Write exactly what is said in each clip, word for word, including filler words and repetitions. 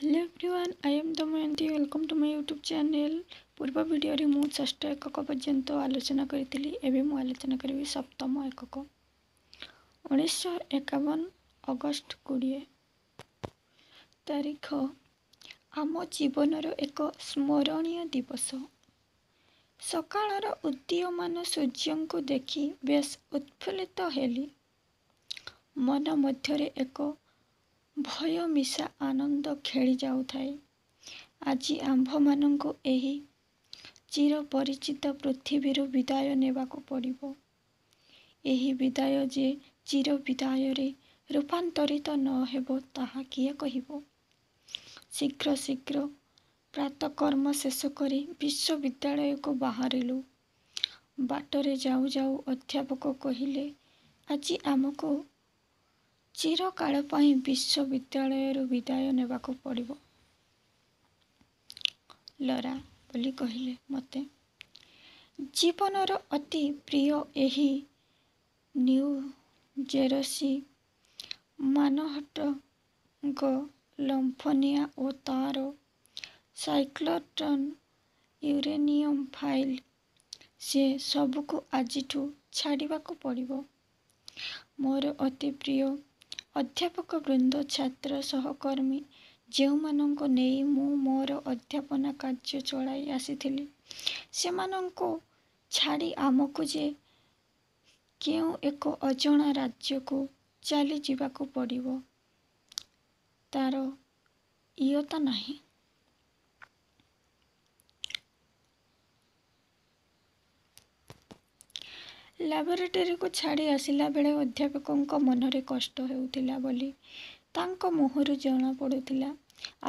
Hello everyone, I am Damayanti. Welcome to my YouTube channel. ପୂର୍ବ ଭିଡ଼ିଓରେ ମୁଁ ଷଷ୍ଠ ଏକକ ପର୍ଯ୍ୟନ୍ତ ଆଲୋଚନା କରିଥିଲି। ଏବେ ମୁଁ ଆଲୋଚନା କରିବି ସପ୍ତମ ଏକକ। ଉଣେଇଶହ ଏକାବନ ଅଗଷ୍ଟ କୋଡ଼ିଏ ତାରିଖ ଆମ ଜୀବନର ଏକ ସ୍ମରଣୀୟ ଦିବସ। ସକାଳର ଉଦୀୟମାନ ସୂର୍ଯ୍ୟଙ୍କୁ ଦେଖି ବେଶ୍ ଉତ୍ଫୁଲ୍ଲିତ ହେଲି। ମନ ମଧ୍ୟରେ ଏକ ଭୟ ମିଶା ଆନନ୍ଦ ଖେଳି ଯାଉଥାଏ। ଆଜି ଆମ୍ଭମାନଙ୍କୁ ଏହି ଚିରପରିଚିତ ପୃଥିବୀରୁ ବିଦାୟ ନେବାକୁ ପଡ଼ିବ। ଏହି ବିଦାୟ ଯେ ଚିର ବିଦାୟରେ ରୂପାନ୍ତରିତ ନ ହେବ, ତାହା କିଏ କହିବ? ଶୀଘ୍ର ଶୀଘ୍ର ପ୍ରାତଃକର୍ମ ଶେଷ କରି ବିଶ୍ୱବିଦ୍ୟାଳୟକୁ ବାହାରିଲୁ। ବାଟରେ ଯାଉ ଯାଉ ଅଧ୍ୟାପକ କହିଲେ, ଆଜି ଆମକୁ ଚିରକାଳ ପାଇଁ ବିଶ୍ୱବିଦ୍ୟାଳୟରୁ ବିଦାୟ ନେବାକୁ ପଡ଼ିବ ଲରା, ବୋଲି କହିଲେ ମୋତେ। ଜୀବନର ଅତି ପ୍ରିୟ ଏହି ନ୍ୟୁ ଜେରସି, ମାନହଟ୍ଟନ୍ଙ୍କ ଲମ୍ଫନିଆଁ ଓ ତା'ର ସାଇକ୍ଲୋଟ୍ରନ୍, ୟୁରେନିୟମ୍ ଫାଇଲ୍, ସେ ସବୁକୁ ଆଜିଠୁ ଛାଡ଼ିବାକୁ ପଡ଼ିବ। ମୋର ଅତି ପ୍ରିୟ ଅଧ୍ୟାପକବୃନ୍ଦ, ଛାତ୍ର, ସହକର୍ମୀ, ଯେଉଁମାନଙ୍କୁ ନେଇ ମୁଁ ମୋର ଅଧ୍ୟାପନା କାର୍ଯ୍ୟ ଚଳାଇ ଆସିଥିଲି, ସେମାନଙ୍କୁ ଛାଡ଼ି ଆମକୁ ଯେ କେଉଁ ଏକ ଅଜଣା ରାଜ୍ୟକୁ ଚାଲିଯିବାକୁ ପଡ଼ିବ, ତା'ର ଇୟତ୍ତା ନାହିଁ। ଲାବୋରେଟୋରୀକୁ ଛାଡ଼ି ଆସିଲାବେଳେ ଅଧ୍ୟାପକଙ୍କ ମନରେ କଷ୍ଟ ହେଉଥିଲା ବୋଲି ତାଙ୍କ ମୁହଁରୁ ଜଣାପଡ଼ୁଥିଲା।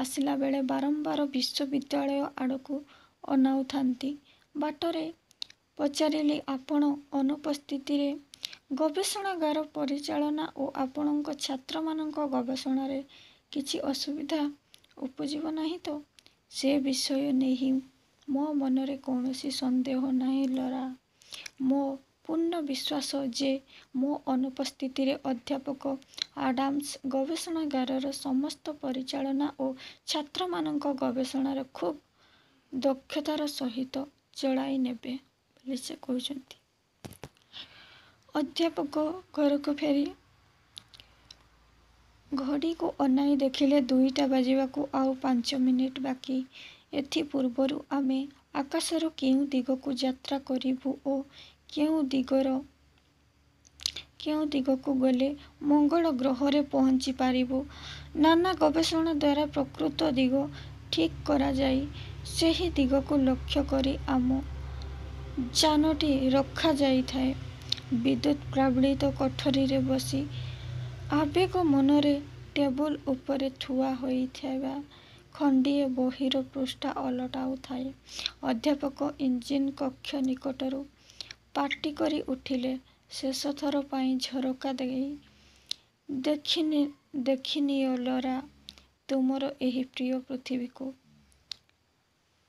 ଆସିଲାବେଳେ ବାରମ୍ବାର ବିଶ୍ୱବିଦ୍ୟାଳୟ ଆଡ଼କୁ ଅନାଉଥାନ୍ତି। ବାଟରେ ପଚାରିଲି, ଆପଣ ଅନୁପସ୍ଥିତିରେ ଗବେଷଣାଗାର ପରିଚାଳନା ଓ ଆପଣଙ୍କ ଛାତ୍ରମାନଙ୍କ ଗବେଷଣାରେ କିଛି ଅସୁବିଧା ଉପୁଜିବ ନାହିଁ ତ? ସେ ବିଷୟ ନେଇ ମୋ ମନରେ କୌଣସି ସନ୍ଦେହ ନାହିଁ ଲରା। ମୋ ପୂର୍ଣ୍ଣ ବିଶ୍ୱାସ ଯେ ମୋ ଅନୁପସ୍ଥିତିରେ ଅଧ୍ୟାପକ ଆଡାମ୍ସ ଗବେଷଣାଗାରର ସମସ୍ତ ପରିଚାଳନା ଓ ଛାତ୍ରମାନଙ୍କ ଗବେଷଣାର ଖୁବ୍ ଦକ୍ଷତାର ସହିତ ଚଳାଇ ନେବେ ବୋଲି ସେ କହୁଛନ୍ତି। ଅଧ୍ୟାପକ ଘରକୁ ଫେରି ଘଡ଼ିକୁ ଅନାଇ ଦେଖିଲେ ଦୁଇଟା ବାଜିବାକୁ ଆଉ ପାଞ୍ଚ ମିନିଟ୍ ବାକି। ଏଥି ପୂର୍ବରୁ ଆମେ ଆକାଶର କେଉଁ ଦିଗକୁ ଯାତ୍ରା କରିବୁ ଓ କେଉଁ ଦିଗର କେଉଁ ଦିଗକୁ ଗଲେ ମଙ୍ଗଳ ଗ୍ରହରେ ପହଞ୍ଚି ପାରିବୁ, ନାନା ଗବେଷଣା ଦ୍ୱାରା ପ୍ରକୃତ ଦିଗ ଠିକ୍ କରାଯାଇ ସେହି ଦିଗକୁ ଲକ୍ଷ୍ୟ କରି ଆମ ଯାନଟି ରଖାଯାଇଥାଏ। ବିଦ୍ୟୁତ୍ ପ୍ରାବଳିତ କୋଠରିରେ ବସି ଆବେଗ ମନରେ ଟେବୁଲ ଉପରେ ଥୁଆ ହୋଇଥିବା ଖଣ୍ଡିଏ ବହିର ପୃଷ୍ଠା ଓଲଟାଉଥାଏ, ଅଧ୍ୟାପକ ଇଞ୍ଜିନ୍ କକ୍ଷ ନିକଟରୁ ପାଟି କରି ଉଠିଲେ, ଶେଷଥର ପାଇଁ ଝରକା ଦେଇ ଦେଖିନିଅ ଲରା, ତୁମର ଏହି ପ୍ରିୟ ପୃଥିବୀକୁ।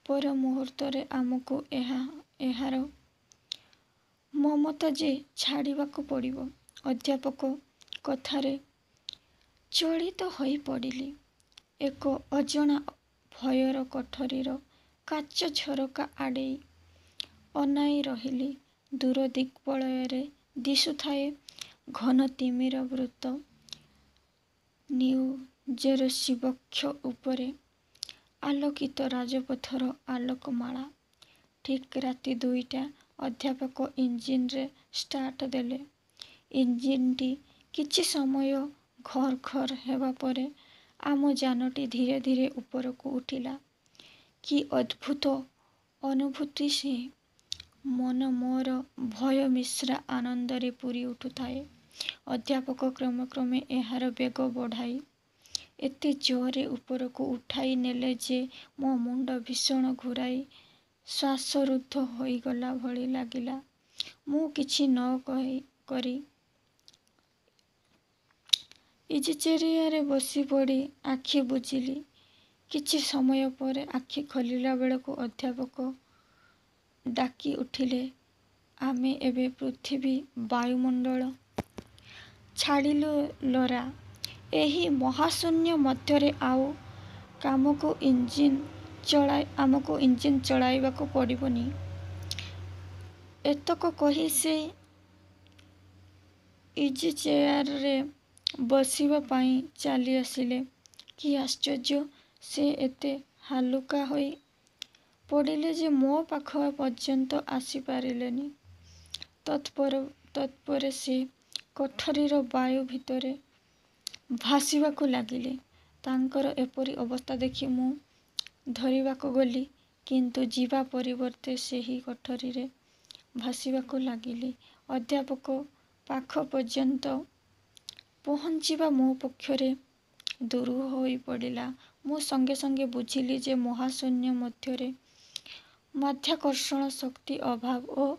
ପର ମୁହୂର୍ତ୍ତରେ ଆମକୁ ଏହା ଏହାର ମମତା ଯେ ଛାଡ଼ିବାକୁ ପଡ଼ିବ। ଅଧ୍ୟାପକ କଥାରେ ଚଳିତ ହୋଇପଡ଼ିଲି। ଏକ ଅଜଣା ଭୟରେ କୋଠରିର କାଚ ଝରକା ଆଡ଼େଇ ଅନାଇ ରହିଲି। ଦୂର ଦିଗ୍ବଳୟରେ ଦିଶୁଥାଏ ଘନ ତିମିରାବୃତ ନ୍ୟୁ ଜେରସି ବକ୍ଷ ଉପରେ ଆଲୋକିତ ରାଜପଥର ଆଲୋକମାଳା। ଠିକ୍ ରାତି ଦୁଇଟା। ଅଧ୍ୟାପକ ଇଞ୍ଜିନରେ ଷ୍ଟାର୍ଟ ଦେଲେ। ଇଞ୍ଜିନ୍ଟି କିଛି ସମୟ ଘର୍ ଘର୍ ହେବା ପରେ ଆମ ଯାନଟି ଧୀରେ ଧୀରେ ଉପରକୁ ଉଠିଲା। କି ଅଦ୍ଭୁତ ଅନୁଭୂତି ସେ! ମନ ମୋର ଭୟମିଶ୍ରା ଆନନ୍ଦରେ ପୂରି ଉଠୁଥାଏ। ଅଧ୍ୟାପକ କ୍ରମେ କ୍ରମେ ଏହାର ବେଗ ବଢ଼ାଇ ଏତେ ଜୋରରେ ଉପରକୁ ଉଠାଇ ନେଲେ ଯେ ମୋ ମୁଣ୍ଡ ଭୀଷଣ ଘୂରାଇ ଶ୍ୱାସରୁଦ୍ଧ ହୋଇଗଲା ଭଳି ଲାଗିଲା। ମୁଁ କିଛି ନ କରି ଇଜିଚେୟାରରେ ବସିପଡ଼ି ଆଖି ବୁଜିଲି। କିଛି ସମୟ ପରେ ଆଖି ଖୋଲିଲା ବେଳକୁ ଅଧ୍ୟାପକ ଡାକି ଉଠିଲେ, ଆମେ ଏବେ ପୃଥିବୀ ବାୟୁମଣ୍ଡଳ ଛାଡ଼ିଲୁ ଲରା। ଏହି ମହାଶୂନ୍ୟ ମଧ୍ୟରେ ଆଉ କାମକୁ ଇଞ୍ଜିନ୍ ଚଳାଇ ଆମକୁ ଇଞ୍ଜିନ୍ ଚଳାଇବାକୁ ପଡ଼ିବନି। ଏତକ କହି ସେ ଇଜିଚେୟାରରେ ବସିବା ପାଇଁ ଚାଲିଆସିଲେ। କି ଆଶ୍ଚର୍ଯ୍ୟ, ସେ ଏତେ ହାଲୁକା ହୋଇ ପଡ଼ିଲେ ଯେ ମୋ ପାଖ ପର୍ଯ୍ୟନ୍ତ ଆସି ପାରିଲେନି। ତତ୍ପରେ ସେ କୋଠରିର ବାୟୁ ଭିତରେ ଭାସିବାକୁ ଲାଗିଲେ। ତାଙ୍କର ଏପରି ଅବସ୍ଥା ଦେଖି ମୁଁ ଧରିବାକୁ ଗଲି; କିନ୍ତୁ ଯିବା ପରିବର୍ତ୍ତେ ସେହି କୋଠରିରେ ଭାସିବାକୁ ଲାଗିଲି। ଅଧ୍ୟାପକ ପାଖ ପର୍ଯ୍ୟନ୍ତ ପହଞ୍ଚିବା ମୋ ପକ୍ଷରେ ଦୁରୂହ ହୋଇ ପଡ଼ିଲା। ମୁଁ ସଙ୍ଗେ ସଙ୍ଗେ ବୁଝିଲି ଯେ ମହାଶୂନ୍ୟ ମଧ୍ୟରେ ମାଧ୍ୟାକର୍ଷଣ ଶକ୍ତି ଅଭାବ ଓ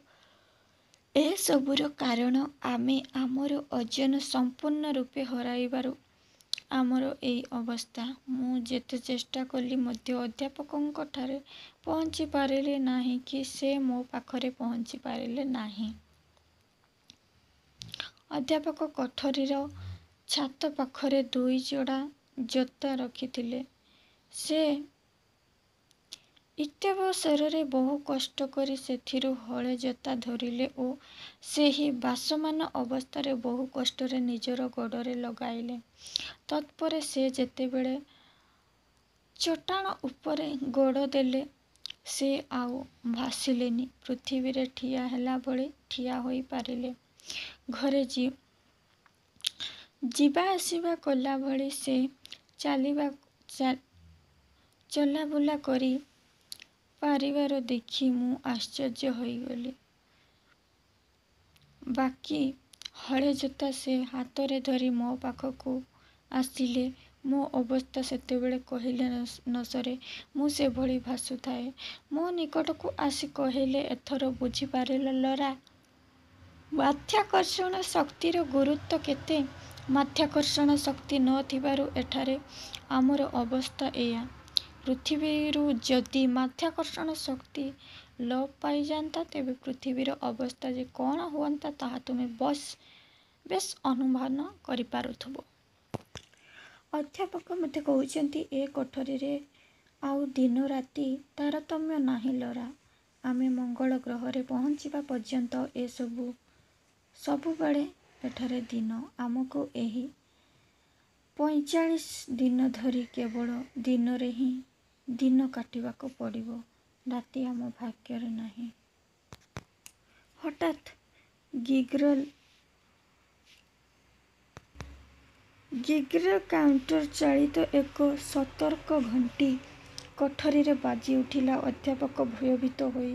ଏସବୁର କାରଣ ଆମେ ଆମର ଓଜନ ସମ୍ପୂର୍ଣ୍ଣ ରୂପେ ହରାଇବାରୁ ଆମର ଏଇ ଅବସ୍ଥା। ମୁଁ ଯେତେ ଚେଷ୍ଟା କଲି ମଧ୍ୟ ଅଧ୍ୟାପକଙ୍କଠାରେ ପହଞ୍ଚି ପାରିଲି ନାହିଁ କି ସେ ମୋ ପାଖରେ ପହଞ୍ଚି ପାରିଲେ ନାହିଁ। ଅଧ୍ୟାପକ କୋଠରିର ଛାତ ପାଖରେ ଦୁଇଯୋଡ଼ା ଜୋତା ରଖିଥିଲେ। ସେ ଇତ୍ୟବସରରେ ବହୁ କଷ୍ଟ କରି ସେଥିରୁ ହଳେ ଜୋତା ଧରିଲେ ଓ ସେହି ଭାସମାନ ଅବସ୍ଥାରେ ବହୁ କଷ୍ଟରେ ନିଜର ଗୋଡ଼ରେ ଲଗାଇଲେ। ତତ୍ପରେ ସେ ଯେତେବେଳେ ଚଟାଣ ଉପରେ ଗୋଡ଼ ଦେଲେ, ସେ ଆଉ ଭାସିଲେନି, ପୃଥିବୀରେ ଠିଆ ହେଲା ଭଳି ଠିଆ ହୋଇ ପାରିଲେ। ଘରେ ଯିବାଆସିବା କଲା ଭଳି ସେ ଚଲାବୁଲା କରି ପାରିବାର ଦେଖି ମୁଁ ଆଶ୍ଚର୍ଯ୍ୟ ହୋଇଗଲି। ବାକି ହଳେ ଜୋତା ସେ ହାତରେ ଧରି ମୋ ପାଖକୁ ଆସିଲେ। ମୋ ଅବସ୍ଥା ସେତେବେଳେ କହିଲେ ନ ସରେ। ମୁଁ ସେଭଳି ଭାସୁଥାଏ। ମୋ ନିକଟକୁ ଆସି କହିଲେ, ''ଏଥର ବୁଝିପାରିଲ ଲରା, ମାଧ୍ୟାକର୍ଷଣ ଶକ୍ତିର ଗୁରୁତ୍ୱ କେତେ? ମାଧ୍ୟାକର୍ଷଣ ଶକ୍ତି ନ ଥିବାରୁ ଏଠାରେ ଆମର ଅବସ୍ଥା ଏଇଆ। ପୃଥିବୀରୁ ଯଦି ମାଧ୍ୟାକର୍ଷଣ ଶକ୍ତି ଲୋପ ପାଇଯାନ୍ତା, ତେବେ ପୃଥିବୀର ଅବସ୍ଥା ଯେ କ'ଣ ହୁଅନ୍ତା, ତାହା ତୁମେ ବେଶ୍ ଅନୁମାନ କରିପାରୁଥିବ। ଅଧ୍ୟାପକ ମୋତେ କହୁଛନ୍ତି, ଏ କୋଠରିରେ ଆଉ ଦିନ ରାତି ତାରତମ୍ୟ ନାହିଁ ଲରା! ଆମେ ମଙ୍ଗଳ ଗ୍ରହରେ ପହଞ୍ଚିବା ପର୍ଯ୍ୟନ୍ତ ଏ ସବୁବେଳେ ଏଠାରେ ଦିନ। ଆମକୁ ଏହି ପଇଁଚାଳିଶ ଦିନ ଧରି କେବଳ ଦିନରେ ହିଁ ଦିନ କାଟିବାକୁ ପଡ଼ିବ। ରାତି ଆମ ଭାଗ୍ୟରେ ନାହିଁ। ହଠାତ୍ ଗିଗ୍ର କାଉଣ୍ଟର ଚାଳିତ ଏକ ସତର୍କ-ଘଣ୍ଟି କୋଠରିରେ ବାଜିଉଠିଲା। ଅଧ୍ୟାପକ ଭୟଭୀତ ହୋଇ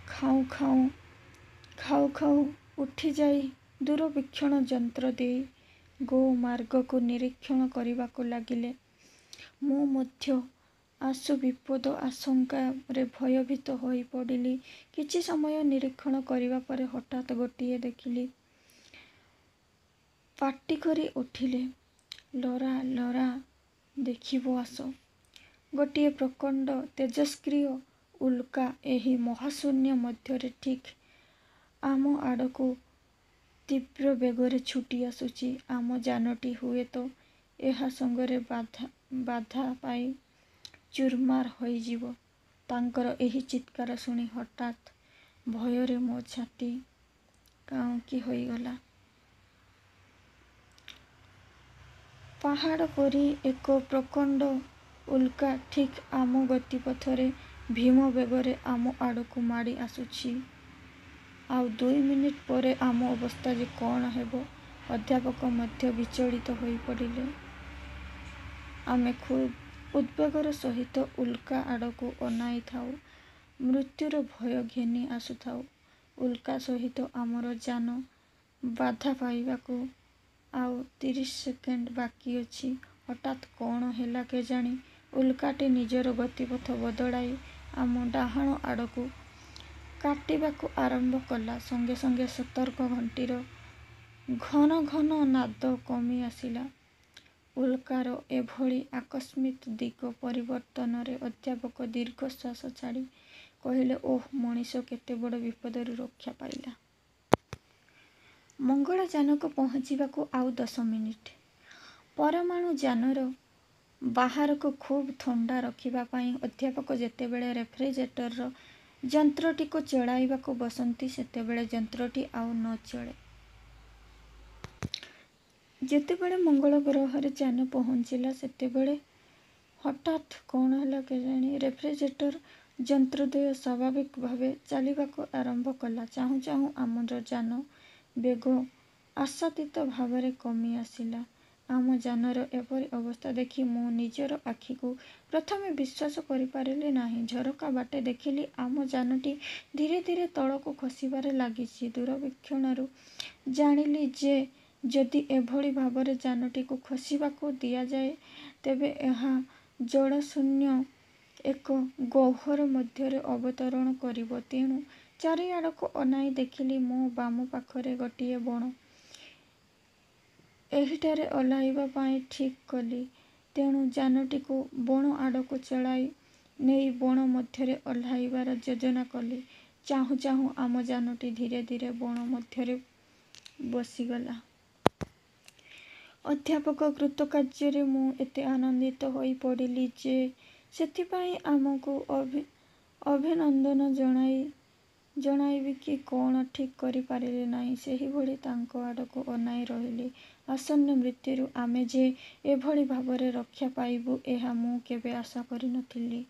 ଖାଉଁ ଖାଉଁ ଖାଉଁ ଉଠିଯାଇ ଦୂରବୀକ୍ଷଣ ଯନ୍ତ୍ର ଦେଇ ଗୋମାର୍ଗକୁ ନିରୀକ୍ଷଣ କରିବାକୁ ଲାଗିଲେ। ମୁଁ ମଧ୍ୟ ଆଶୁ ବିପଦ ଆଶଙ୍କାରେ ଭୟଭୀତ ହୋଇପଡ଼ିଲି। କିଛି ସମୟ ନିରୀକ୍ଷଣ କରିବା ପରେ ହଠାତ୍ ଗୋଟିଏ ଦେଖିଲି ପାଟିକରି ଉଠିଲେ, ''ଲରା, ଲରା, ଦେଖିବ ଆସ। ଗୋଟିଏ ପ୍ରକାଣ୍ଡ ତେଜସ୍କ୍ରିୟ ଉଲ୍କା ଏହି ମହାଶୂନ୍ୟ ମଧ୍ୟରେ ଠିକ୍ ଆମ ଆଡ଼କୁ ତୀବ୍ର ବେଗରେ ଛୁଟି ଆସୁଛି। ଆମ ଯାନଟି ହୁଏତ ଏହା ସଙ୍ଗରେ ବାଧା ପାଇ ଚୁରମାର ହୋଇଯିବ। '' ତାଙ୍କର ଏହି ଚିତ୍କାର ଶୁଣି ହଠାତ୍ ଭୟରେ ମୋ ଛାତି କାଉଁଙ୍କି ହୋଇଗଲା। ପାହାଡ଼ ପରି ଏକ ପ୍ରକାଣ୍ଡ ଉଲ୍କା ଠିକ୍ ଆମ ଗତିପଥରେ ଭୀମ ବେଗରେ ଆମ ଆଡ଼କୁ ମାଡ଼ି ଆସୁଛି। ଆଉ ଦୁଇ ମିନିଟ୍ ପରେ ଆମ ଅବସ୍ଥା ଯେ କଅଣ ହେବ, ଅଧ୍ୟାପକ ମଧ୍ୟ ବିଚଳିତ ହୋଇପଡ଼ିଲେ। ଆମେ ଖୁବ୍ ଉଦ୍ବେଗର ସହିତ ଉଲ୍କା ଆଡ଼କୁ ଅନାଇଥାଉଁ, ମୃତ୍ୟୁର ଭୟ ଘେନି ଆସୁଥାଉ। ଉଲ୍କା ସହିତ ଆମର ଯାନ ବାଧା ପାଇବାକୁ ଆଉ ତିରିଶ ସେକେଣ୍ଡ ବାକି ଅଛି, ହଠାତ୍ କଅଣ ହେଲା କେଜାଣି, ଉଲ୍କାଟି ନିଜର ଗତିପଥ ବଦଳାଇ ଆମ ଡାହାଣ ଆଡ଼କୁ କାଟିବାକୁ ଆରମ୍ଭ କଲା। ସଙ୍ଗେ ସଙ୍ଗେ ସତର୍କ ଘଣ୍ଟିର ଘନ ଘନ ନାଦ କମି ଆସିଲା। ଉଲ୍କାର ଏଭଳି ଆକସ୍ମିକ ଦିଗ ପରିବର୍ତ୍ତନରେ ଅଧ୍ୟାପକ ଦୀର୍ଘଶ୍ୱାସ ଛାଡ଼ି କହିଲେ, ''ଓଃ, ମଣିଷ କେତେବଡ଼ ବିପଦରୁ ରକ୍ଷା ପାଇଲା। '' ମଙ୍ଗଳଯାନକୁ ପହଞ୍ଚିବାକୁ ଆଉ ଦଶ ମିନିଟ୍। ପରମାଣୁଯାନର ବାହାରକୁ ଖୁବ୍ ଥଣ୍ଡା ରଖିବା ପାଇଁ ଅଧ୍ୟାପକ ଯେତେବେଳେ ରେଫ୍ରିଜରେଟର ଯନ୍ତ୍ରଟିକୁ ଚଳାଇବାକୁ ବସନ୍ତି, ସେତେବେଳେ ଯନ୍ତ୍ରଟି ଆଉ ନ ଚଳେ। ଯେତେବେଳେ ମଙ୍ଗଳ ଗ୍ରହରେ ଯାନ ପହଞ୍ଚିଲା, ସେତେବେଳେ ହଠାତ୍ କ'ଣ ହେଲା କେଜାଣି, ରେଫ୍ରିଜରେଟର ଯନ୍ତ୍ରଦ୍ୱୟ ସ୍ୱାଭାବିକ ଭାବେ ଚାଲିବାକୁ ଆରମ୍ଭ କଲା। ଚାହୁଁ ଚାହୁଁ ଆମର ଯାନ ବେଗ ଆଶାତୀତ ଭାବରେ କମିଆସିଲା। ଆମ ଯାନର ଏପରି ଅବସ୍ଥା ଦେଖି ମୁଁ ନିଜର ଆଖିକୁ ପ୍ରଥମେ ବିଶ୍ୱାସ କରିପାରିଲି ନାହିଁ। ଝରକା ବାଟେ ଦେଖିଲି, ଆମ ଯାନଟି ଧୀରେ ଧୀରେ ତଳକୁ ଖସିବାରେ ଲାଗିଛି। ଦୂରବୀକ୍ଷଣରୁ ଜାଣିଲି ଯେ, ଯଦି ଏଭଳି ଭାବରେ ଯାନଟିକୁ ଖସିବାକୁ ଦିଆଯାଏ, ତେବେ ଏହା ଜଳଶୂନ୍ୟ ଏକ ଗହ୍ୱର ମଧ୍ୟରେ ଅବତରଣ କରିବ। ତେଣୁ ଚାରିଆଡ଼କୁ ଅନାଇ ଦେଖିଲି, ମୋ ବାମ ପାଖରେ ଗୋଟିଏ ବଣ। ଏହିଠାରେ ଓହ୍ଲାଇବା ପାଇଁ ଠିକ୍ କଲି। ତେଣୁ ଯାନଟିକୁ ବଣ ଆଡ଼କୁ ଚଳାଇ ନେଇ ବଣ ମଧ୍ୟରେ ଓହ୍ଲାଇବାର ଯୋଜନା କଲି। ଚାହୁଁ ଚାହୁଁ ଆମ ଯାନଟି ଧୀରେ ଧୀରେ ବଣ ମଧ୍ୟରେ ବସିଗଲା। ଅଧ୍ୟାପକଙ୍କ କୃତକାର୍ଯ୍ୟରେ ମୁଁ ଏତେ ଆନନ୍ଦିତ ହୋଇପଡ଼ିଲି ଯେ, ସେଥିପାଇଁ ଆମକୁ ଅଭିନନ୍ଦନ ଜଣାଇବି କି କ'ଣ ଠିକ୍ କରିପାରିଲି ନାହିଁ। ସେହିଭଳି ତାଙ୍କ ଆଡ଼କୁ ଅନାଇ ରହିଲି। ଆସନ୍ନ ମୃତ୍ୟୁରୁ ଆମେ ଯେ ଏଭଳି ଭାବରେ ରକ୍ଷା ପାଇବୁ, ଏହା ମୁଁ କେବେ ଆଶା କରି ନ ଥିଲି।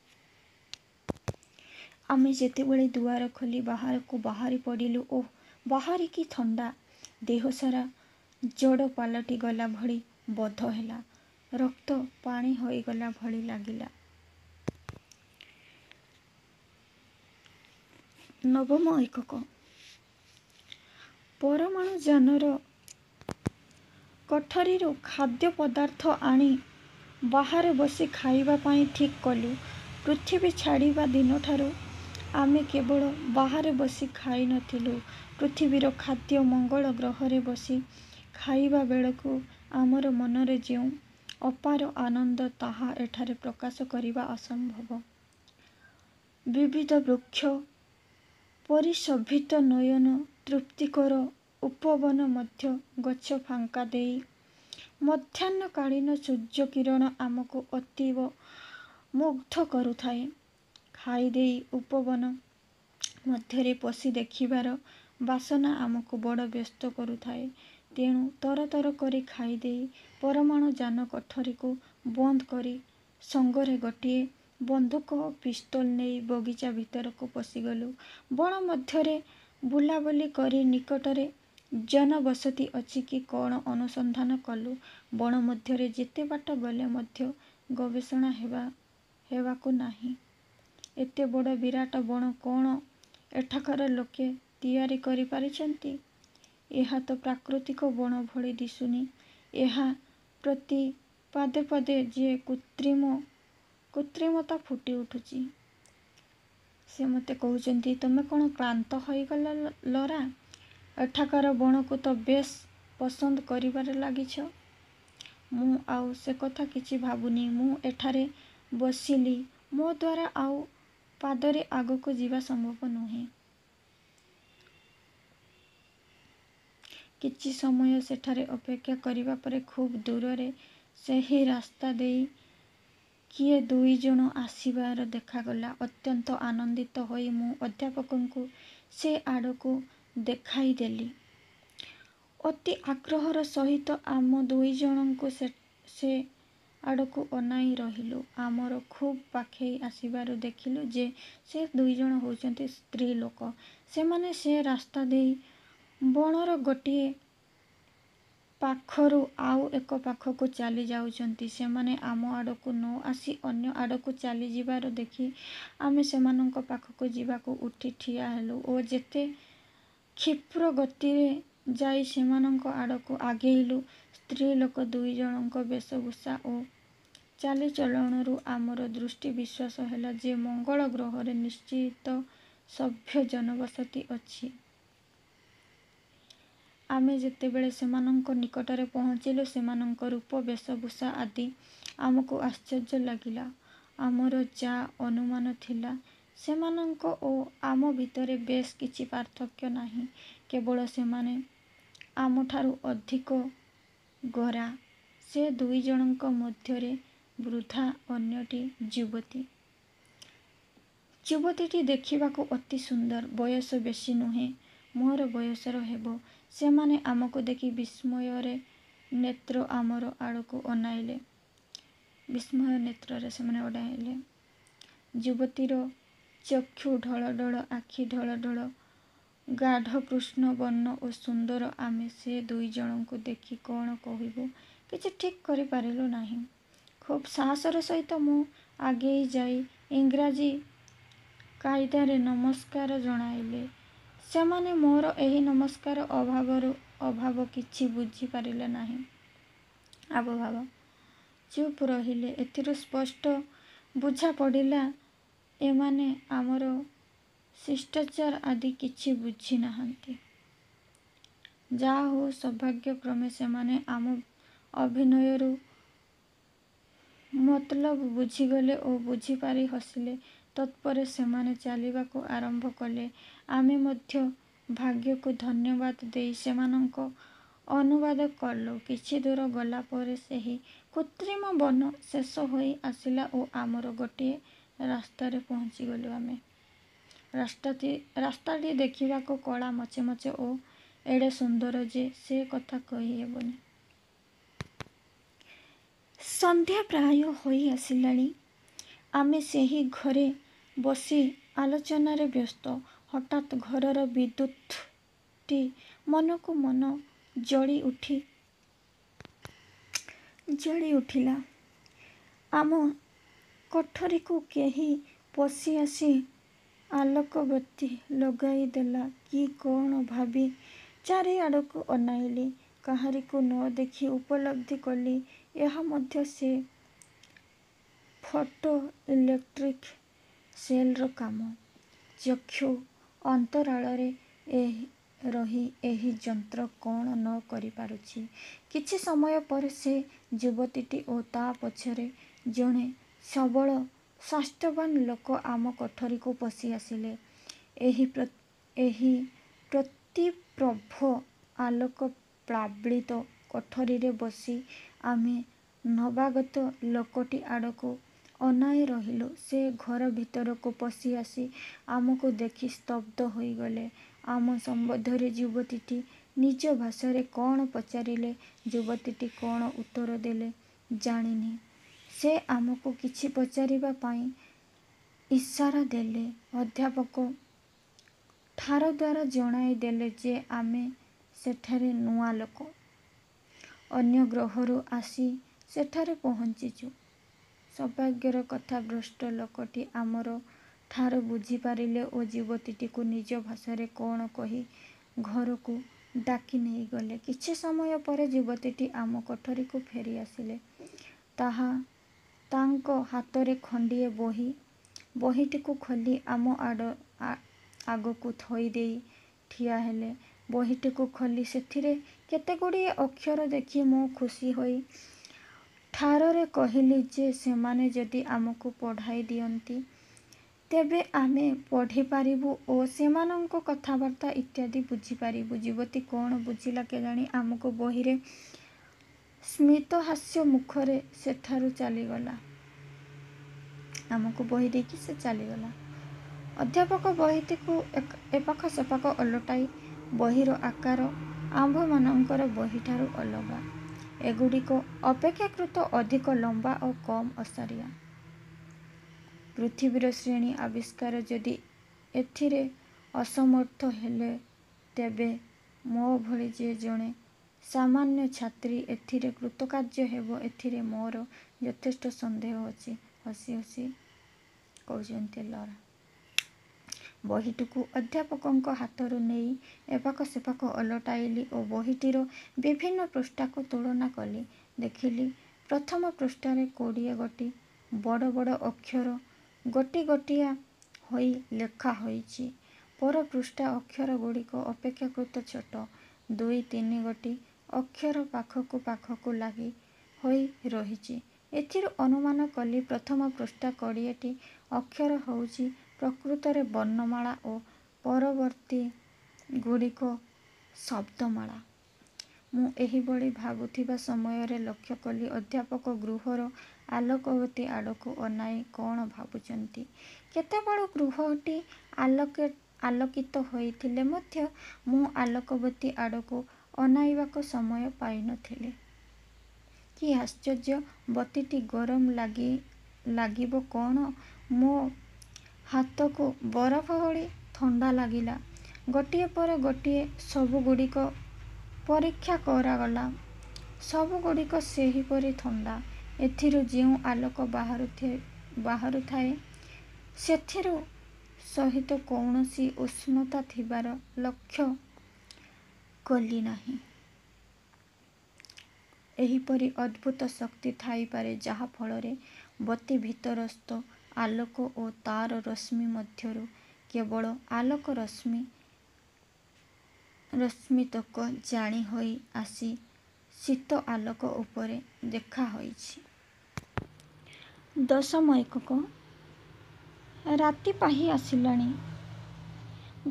ଆମେ ଯେତେବେଳେ ଦୁଆର ଖୋଲି ବାହାରକୁ ବାହାରି ପଡ଼ିଲୁ, ଓଃ, ବାହାରେ କି ଥଣ୍ଡା! ଦେହସାରା ଜଡ଼ ପାଲଟିଗଲା ଭଳି ବୋଧ ହେଲା। ରକ୍ତ ପାଣି ହୋଇଗଲା ଭଳି ଲାଗିଲା। ନବମ ଏକକ ପରମାଣୁଯାନର କୋଠରିରୁ ଖାଦ୍ୟପଦାର୍ଥ ଆଣି ବାହାରେ ବସି ଖାଇବା ପାଇଁ ଠିକ୍ କଲୁଁ। ପୃଥିବୀ ଛାଡ଼ିବା ଦିନଠାରୁ ଆମେ କେବେ ବାହାରେ ବସି ଖାଇ ନ ଥିଲୁଁ। ପୃଥିବୀର ଖାଦ୍ୟ ମଙ୍ଗଳ ଗ୍ରହରେ ବସି ଖାଇବାବେଳକୁ ଆମର ମନରେ ଯେଉଁ ଅପାର ଆନନ୍ଦ, ତାହା ଏଠାରେ ପ୍ରକାଶ କରିବା ଅସମ୍ଭବ। ବିବିଧ ବୃକ୍ଷ ପରିଶୋଭିତ ନୟନ-ତୃପ୍ତିକର ଉପବନ ମଧ୍ୟ ଗଛ ଫାଙ୍କ ଦେଇ ମଧ୍ୟାହ୍ନକାଳୀନ ସୂର୍ଯ୍ୟକିରଣ ଆମକୁ ଅତୀବ ମୁଗ୍ଧ କରୁଥାଏ। ଖାଇଦେଇ ଉପବନ ମଧ୍ୟରେ ପଶି ଦେଖିବାର ବାସନା ଆମକୁ ବଡ଼ ବ୍ୟସ୍ତ କରୁଥାଏ। ତେଣୁ ତରତର କରି ଖାଇଦେଇ ପରମାଣୁଯାନ କୋଠରିକୁ ବନ୍ଦ କରି ସଙ୍ଗରେ ଗୋଟିଏ ବନ୍ଧୁକ ଓ ପିସ୍ତଲ ନେଇ ବଗିଚା ଭିତରକୁ ପଶିଗଲୁଁ। ବଣ ମଧ୍ୟରେ ବୁଲାବୁଲି କରି ନିକଟରେ ଜନବସତି ଅଛି କି କ'ଣ ଅନୁସନ୍ଧାନ କଲୁଁ। ବଣ ମଧ୍ୟରେ ଯେତେ ବାଟ ଗଲେ ମଧ୍ୟ ଗବେଷଣା ହେବାକୁ ନାହିଁ। ଏତେ ବଡ଼ ବିରାଟ ବଣ କ'ଣ ଏଠାକାର ଲୋକେ ତିଆରି କରି ପାରିଛନ୍ତି? ଏହା ତ ପ୍ରାକୃତିକ ବଣ ଭଳି ଦିଶୁନି। ଏହା ପ୍ରତି ପଦେ ପଦେ ଯେ କୃତ୍ରିମତା ଫୁଟିଉଠୁଛି। ସେ ମୋତେ କହୁଛନ୍ତି, ''ତୁମେ କ'ଣ କ୍ଳାନ୍ତ ହୋଇଗଲ ଲରା? ଏଠାକାର ବଣକୁ ତ ବେଶ୍ ପସନ୍ଦ କରିବାରେ ଲାଗିଛ। '' ମୁଁ ଆଉ ସେକଥା କିଛି ଭାବୁନି। ମୁଁ ଏଠାରେ ବସିଲି। ମୋ ଦ୍ୱାରା ଆଉ ପାଦରେ ଆଗକୁ ଯିବା ସମ୍ଭବ ନୁହେଁ। କିଛି ସମୟ ସେଠାରେ ଅପେକ୍ଷା କରିବା ପରେ ଖୁବ୍ ଦୂରରେ ସେହି ରାସ୍ତା ଦେଇ କିଏ ଦୁଇ ଜଣ ଆସିବାର ଦେଖାଗଲା। ଅତ୍ୟନ୍ତ ଆନନ୍ଦିତ ହୋଇ ମୁଁ ଅଧ୍ୟାପକଙ୍କୁ ସେ ଆଡ଼କୁ ଦେଖାଇଦେଲି। ଅତି ଆଗ୍ରହର ସହିତ ଆମ ଦୁଇ ଜଣ ସେ ଆଡ଼କୁ ଅନାଇ ରହିଲୁଁ। ଆମର ଖୁବ୍ ପାଖେଇ ଆସିବାରୁ ଦେଖିଲୁଁ ଯେ, ସେ ଦୁଇ ଜଣ ହେଉଛନ୍ତି ସ୍ତ୍ରୀଲୋକ। ସେମାନେ ସେ ରାସ୍ତା ଦେଇ ବଣର ଗୋଟିଏ ପାଖରୁ ଆଉ ଏକ ପାଖକୁ ଚାଲିଯାଉଛନ୍ତି। ସେମାନେ ଆମ ଆଡ଼କୁ ନ ଆସି ଅନ୍ୟ ଆଡ଼କୁ ଚାଲିଯିବାର ଦେଖି ଆମେ ସେମାନଙ୍କ ପାଖକୁ ଯିବାକୁ ଉଠି ଠିଆହେଲୁଁ ଓ ଯେତେ କ୍ଷିପ୍ର ଗତିରେ ଯାଇ ସେମାନଙ୍କ ଆଡ଼କୁ ଆଗେଇଲୁଁ, ସ୍ତ୍ରୀଲୋକ ଦୁଇ ଜଣଙ୍କ ବେଶଭୂଷା ଓ ଚାଲିଚଳନରୁ ଆମର ଦୃଢ଼ ବିଶ୍ୱାସ ହେଲା ଯେ, ମଙ୍ଗଳ ଗ୍ରହରେ ନିଶ୍ଚୟ ସଭ୍ୟ ଜନବସତି ଅଛି। ଆମେ ଯେତେବେଳେ ସେମାନଙ୍କ ନିକଟରେ ପହଞ୍ଚିଲୁଁ, ସେମାନଙ୍କ ରୂପ, ବେଶଭୂଷା ଆଦି ଆମକୁ ଆଶ୍ଚର୍ଯ୍ୟ ଲାଗିଲା। ଆମର ଯା ଅନୁମାନ ଥିଲା, ସେମାନଙ୍କ ଓ ଆମ ଭିତରେ ବେଶ୍ କିଛି ପାର୍ଥକ୍ୟ ନାହିଁ। କେବଳ ସେମାନେ ଆମଠାରୁ ଅଧିକ ଗୋରା। ସେ ଦୁଇ ଜଣଙ୍କ ମଧ୍ୟରେ ବୃଦ୍ଧା, ଅନ୍ୟଟି ଯୁବତୀ। ଯୁବତୀଟି ଦେଖିବାକୁ ଅତି ସୁନ୍ଦର। ବୟସ ବେଶୀ ନୁହେଁ, ମୋର ବୟସର ହେବ। ସେମାନେ ଆମକୁ ଦେଖି ବିସ୍ମୟ ନେତ୍ରରେ ଆମ ଆଡ଼କୁ ଅନାଇଲେ। ବିସ୍ମୟ ନେତ୍ରରେ ସେମାନେ ଅନାଇଲେ। ଯୁବତୀର ଚକ୍ଷୁ ଢଳ ଢଳ, ଆଖି ଢଳ ଢଳ, ଗାଢ଼ କୃଷ୍ଣବର୍ଣ୍ଣ ଓ ସୁନ୍ଦର। ଆମେ ସେ ଦୁଇ ଜଣଙ୍କୁ ଦେଖି କ'ଣ କହିବୁ କିଛି ଠିକ୍ କରିପାରିଲୁ ନାହିଁ। ଖୁବ୍ ସାହସର ସହିତ ମୁଁ ଆଗେଇ ଯାଇ ଇଂରାଜୀ କାଇଦାରେ ନମସ୍କାର ଜଣାଇଲି। ସେମାନେ ମୋର ଏହି ନମସ୍କାରର ଆବଭାବ କିଛି ବୁଝିପାରିଲେ ନାହିଁ। ଆବଭାବ। ଚୁପ୍ ରହିଲେ। ଏଥିରୁ ସ୍ପଷ୍ଟ ବୁଝାପଡ଼ିଲା, ଏମାନେ ଆମର ଶିଷ୍ଟାଚାର ଆଦି କିଛି ବୁଝି ନାହାନ୍ତି। ଯାହାହେଉ ସୌଭାଗ୍ୟକ୍ରମେ ସେମାନେ ଆମ ଅଭିନୟରୁ ମତଲବ ବୁଝିଗଲେ ଓ ବୁଝିପାରି ହସିଲେ। ତତ୍ପରେ ସେମାନେ ଚାଲିବାକୁ ଆରମ୍ଭ କଲେ। ଆମେ ମଧ୍ୟ ଭାଗ୍ୟକୁ ଧନ୍ୟବାଦ ଦେଇ ସେମାନଙ୍କ ଅନୁବାଦ କଲୁଁ। କିଛି ଦୂର ଗଲା ପରେ ସେହି କୃତ୍ରିମ ବନ ଶେଷ ହୋଇ ଆସିଲା ଓ ଆମର ଗୋଟିଏ ରାସ୍ତାରେ ପହଞ୍ଚିଗଲୁଁ ଆମେ। ରାସ୍ତାଟି ଦେଖିବାକୁ କଳା ମଚମଚ ଓ ଏଡ଼େ ସୁନ୍ଦର ଯେ, ସେ କଥା କହି ହେବନି। ସନ୍ଧ୍ୟା ପ୍ରାୟ ହୋଇ ଆସିଲାଣି। ଆମେ ସେହି ଘରେ ବସି ଆଲୋଚନାରେ ବ୍ୟସ୍ତ। ହଠାତ୍ ଘରର ବିଦ୍ୟୁତ୍ଟି ମନକୁ ମନ ଜଳିଉଠିଲା। ଆମ କୋଠରିକୁ କେହି ପଶିଆସି ଆଲୋକବତୀ ଲଗାଇଦେଲା କି କଅଣ ଭାବି ଚାରିଆଡ଼କୁ ଅନାଇଲି। କାହାରିକୁ ନ ଦେଖି ଉପଲବ୍ଧି କଲି, ଏହା ମଧ୍ୟ ସେ ଫଟୋ ଇଲେକ୍ଟ୍ରିକ୍ ସେଲ୍ର କାମ। ଚକ୍ଷୁ ଅନ୍ତରାଳରେ ରହି ଏହି ଯନ୍ତ୍ର କ'ଣ ନ କରିପାରୁଛି! କିଛି ସମୟ ପରେ ସେ ଯୁବତୀଟି ଓ ତା ପଛରେ ଜଣେ ସବଳ ସ୍ୱାସ୍ଥ୍ୟବାନ୍ ଲୋକ ଆମ କୋଠରିକୁ ପଶିଆସିଲେ। ଏହି ପ୍ରତିପ୍ରଭ ଆଲୋକପ୍ଳାବିତ କୋଠରିରେ ବସି ଆମେ ନବାଗତ ଲୋକଟି ଆଡ଼କୁ ଅନାଇ ରହିଲୁଁ। ସେ ଘର ଭିତରକୁ ପଶିଆସି ଆମକୁ ଦେଖି ସ୍ତବ୍ଧ ହୋଇଗଲେ। ଆମ ସମ୍ବନ୍ଧରେ ଯୁବତୀଟି ନିଜ ଭାଷାରେ କ'ଣ ପଚାରିଲେ, ଯୁବତୀଟି କ'ଣ ଉତ୍ତର ଦେଲେ ଜାଣିନି। ସେ ଆମକୁ କିଛି ପଚାରିବା ପାଇଁ ଇସାରା ଦେଲେ। ଅଧ୍ୟାପକ ଠାରଦ୍ୱାରା ଜଣାଇ ଦେଲେ ଯେ ଆମେ ସେଠାରେ ନୂଆ ଲୋକ। ଅନ୍ୟ ଗ୍ରହରୁ ଆସି ସେଠାରେ ପହଞ୍ଚିଛୁ। ସୌଭାଗ୍ୟର କଥା, ବୃଦ୍ଧ ଲୋକଟି ଆମର ଠାର ବୁଝିପାରିଲେ ଓ ଯୁବତୀଟିକୁ ନିଜ ଭାଷାରେ କ'ଣ କହି ଘରକୁ ଡାକି ନେଇଗଲେ। କିଛି ସମୟ ପରେ ଯୁବତୀଟି ଆମ କୋଠରିକୁ ଫେରିଆସିଲେ। ତାଙ୍କ ହାତରେ ଖଣ୍ଡିଏ ବହି। ବହିଟିକୁ ଖୋଲି ଆମ ଆଗକୁ ଥୋଇଦେଇ ଠିଆହେଲେ। ବହିଟିକୁ ଖୋଲି ସେଥିରେ କେତେଗୁଡ଼ିଏ ଅକ୍ଷର ଦେଖି ମୁଁ ଖୁସି ହୋଇ ଠାରରେ କହିଲି ଯେ, ସେମାନେ ଯଦି ଆମକୁ ପଢ଼ାଇ ଦିଅନ୍ତି, ତେବେ ଆମେ ପଢ଼ିପାରିବୁ ଓ ସେମାନଙ୍କ କଥାବାର୍ତ୍ତା ଇତ୍ୟାଦି ବୁଝିପାରିବୁ। ଯୁବତୀ କ'ଣ ବୁଝିଲା କେଜାଣି ଆମକୁ ବହିରେ ସ୍ମିତହାସ୍ୟ ମୁଖରେ ସେଠାରୁ ଚାଲିଗଲା। ଆମକୁ ବହି ଦେଇକି ସେ ଚାଲିଗଲା। ଅଧ୍ୟାପକ ବହିଟିକୁ ଏପାଖ ସେପାଖ ଓଲଟାଇ ବହିର ଆକାର ଆମ୍ଭମାନଙ୍କର ବହିଠାରୁ ଅଲଗା। ଏଗୁଡ଼ିକ ଅପେକ୍ଷାକୃତ ଅଧିକ ଲମ୍ବା ଓ କମ୍ ଓସାରିଆ। ପୃଥିବୀର ଶ୍ରେଣୀ ଆବିଷ୍କାର ଯଦି ଏଥିରେ ଅସମର୍ଥ ହେଲେ, ତେବେ ମୋ ଭଳି ଯେ ଜଣେ ସାମାନ୍ୟ ଛାତ୍ରୀ ଏଥିରେ କୃତକାର୍ଯ୍ୟ ହେବ ଏଥିରେ ମୋର ଯଥେଷ୍ଟ ସନ୍ଦେହ ଅଛି। ହସି ହସି କହୁଛନ୍ତି ଲରା। ବହିଟିକୁ ଅଧ୍ୟାପକଙ୍କ ହାତରୁ ନେଇ ଏପାଖ ସେପାଖ ଓଲଟାଇଲି ଓ ବହିଟିର ବିଭିନ୍ନ ପୃଷ୍ଠାକୁ ତୁଳନା କଲି। ଦେଖିଲି, ପ୍ରଥମ ପୃଷ୍ଠାରେ କୋଡ଼ିଏ ଗୋଟି ବଡ଼ ବଡ଼ ଅକ୍ଷର ଗୋଟି ଗୋଟିଆ ହୋଇ ଲେଖା ହୋଇଛି। ପର ପୃଷ୍ଠା ଅକ୍ଷରଗୁଡ଼ିକ ଅପେକ୍ଷାକୃତ ଛୋଟ। ଦୁଇ ତିନିଗୋଟି ଅକ୍ଷର ପାଖକୁ ପାଖକୁ ଲାଗି ହୋଇ ରହିଛି। ଏଥିରୁ ଅନୁମାନ କଲି, ପ୍ରଥମ ପୃଷ୍ଠା କୋଡ଼ିଏଟି ଅକ୍ଷର ହେଉଛି ପ୍ରକୃତରେ ବର୍ଣ୍ଣମାଳା ଓ ପରବର୍ତ୍ତୀ ଗୁଡ଼ିକ ଶବ୍ଦମାଳା। ମୁଁ ଏହିଭଳି ଭାବୁଥିବା ସମୟରେ ଲକ୍ଷ୍ୟ କଲି ଅଧ୍ୟାପକ ଗୃହର ଆଲୋକବତୀ ଆଡ଼କୁ ଅନାଇ କଅଣ ଭାବୁଛନ୍ତି। କେତେବେଳୁ ଗୃହଟି ଆଲୋକିତ ହୋଇଥିଲେ ମଧ୍ୟ ମୁଁ ଆଲୋକବତୀ ଆଡ଼କୁ ଅନାଇବାକୁ ସମୟ ପାଇ ନ ଥିଲି। କି ଆଶ୍ଚର୍ଯ୍ୟ, ବତୀଟି ଗରମ ଲାଗିବ କଅଣ, ମୋ ହାତକୁ ବରଫ ଭଳି ଥଣ୍ଡା ଲାଗିଲା। ଗୋଟିଏ ପରେ ଗୋଟିଏ ସବୁଗୁଡ଼ିକ ପରୀକ୍ଷା କରାଗଲା। ସବୁଗୁଡ଼ିକ ସେହିପରି ଥଣ୍ଡା। ଏଥିରୁ ଯେଉଁ ଆଲୋକ ବାହାରୁଥାଏ, ସେଥିରୁ ସହିତ କୌଣସି ଉଷ୍ଣତା ଥିବାର ଲକ୍ଷ୍ୟ କଲି ନାହିଁ। ଏହିପରି ଅଦ୍ଭୁତ ଶକ୍ତି ଥାଇପାରେ, ଯାହା ଫଳରେ ବତୀ ଭିତରସ୍ଥ ଆଲୋକ ଓ ତା'ର ରଶ୍ମି ମଧ୍ୟରୁ କେବଳ ଆଲୋକ-ରଶ୍ମିତକ ଜାଳି ହୋଇ ଆସି ଶୀତ ଆଲୋକ ଉପରେ ଲେଖା ହୋଇଛି। ଦଶମ ଏକକ ରାତି ପାହି ଆସିଲାଣି।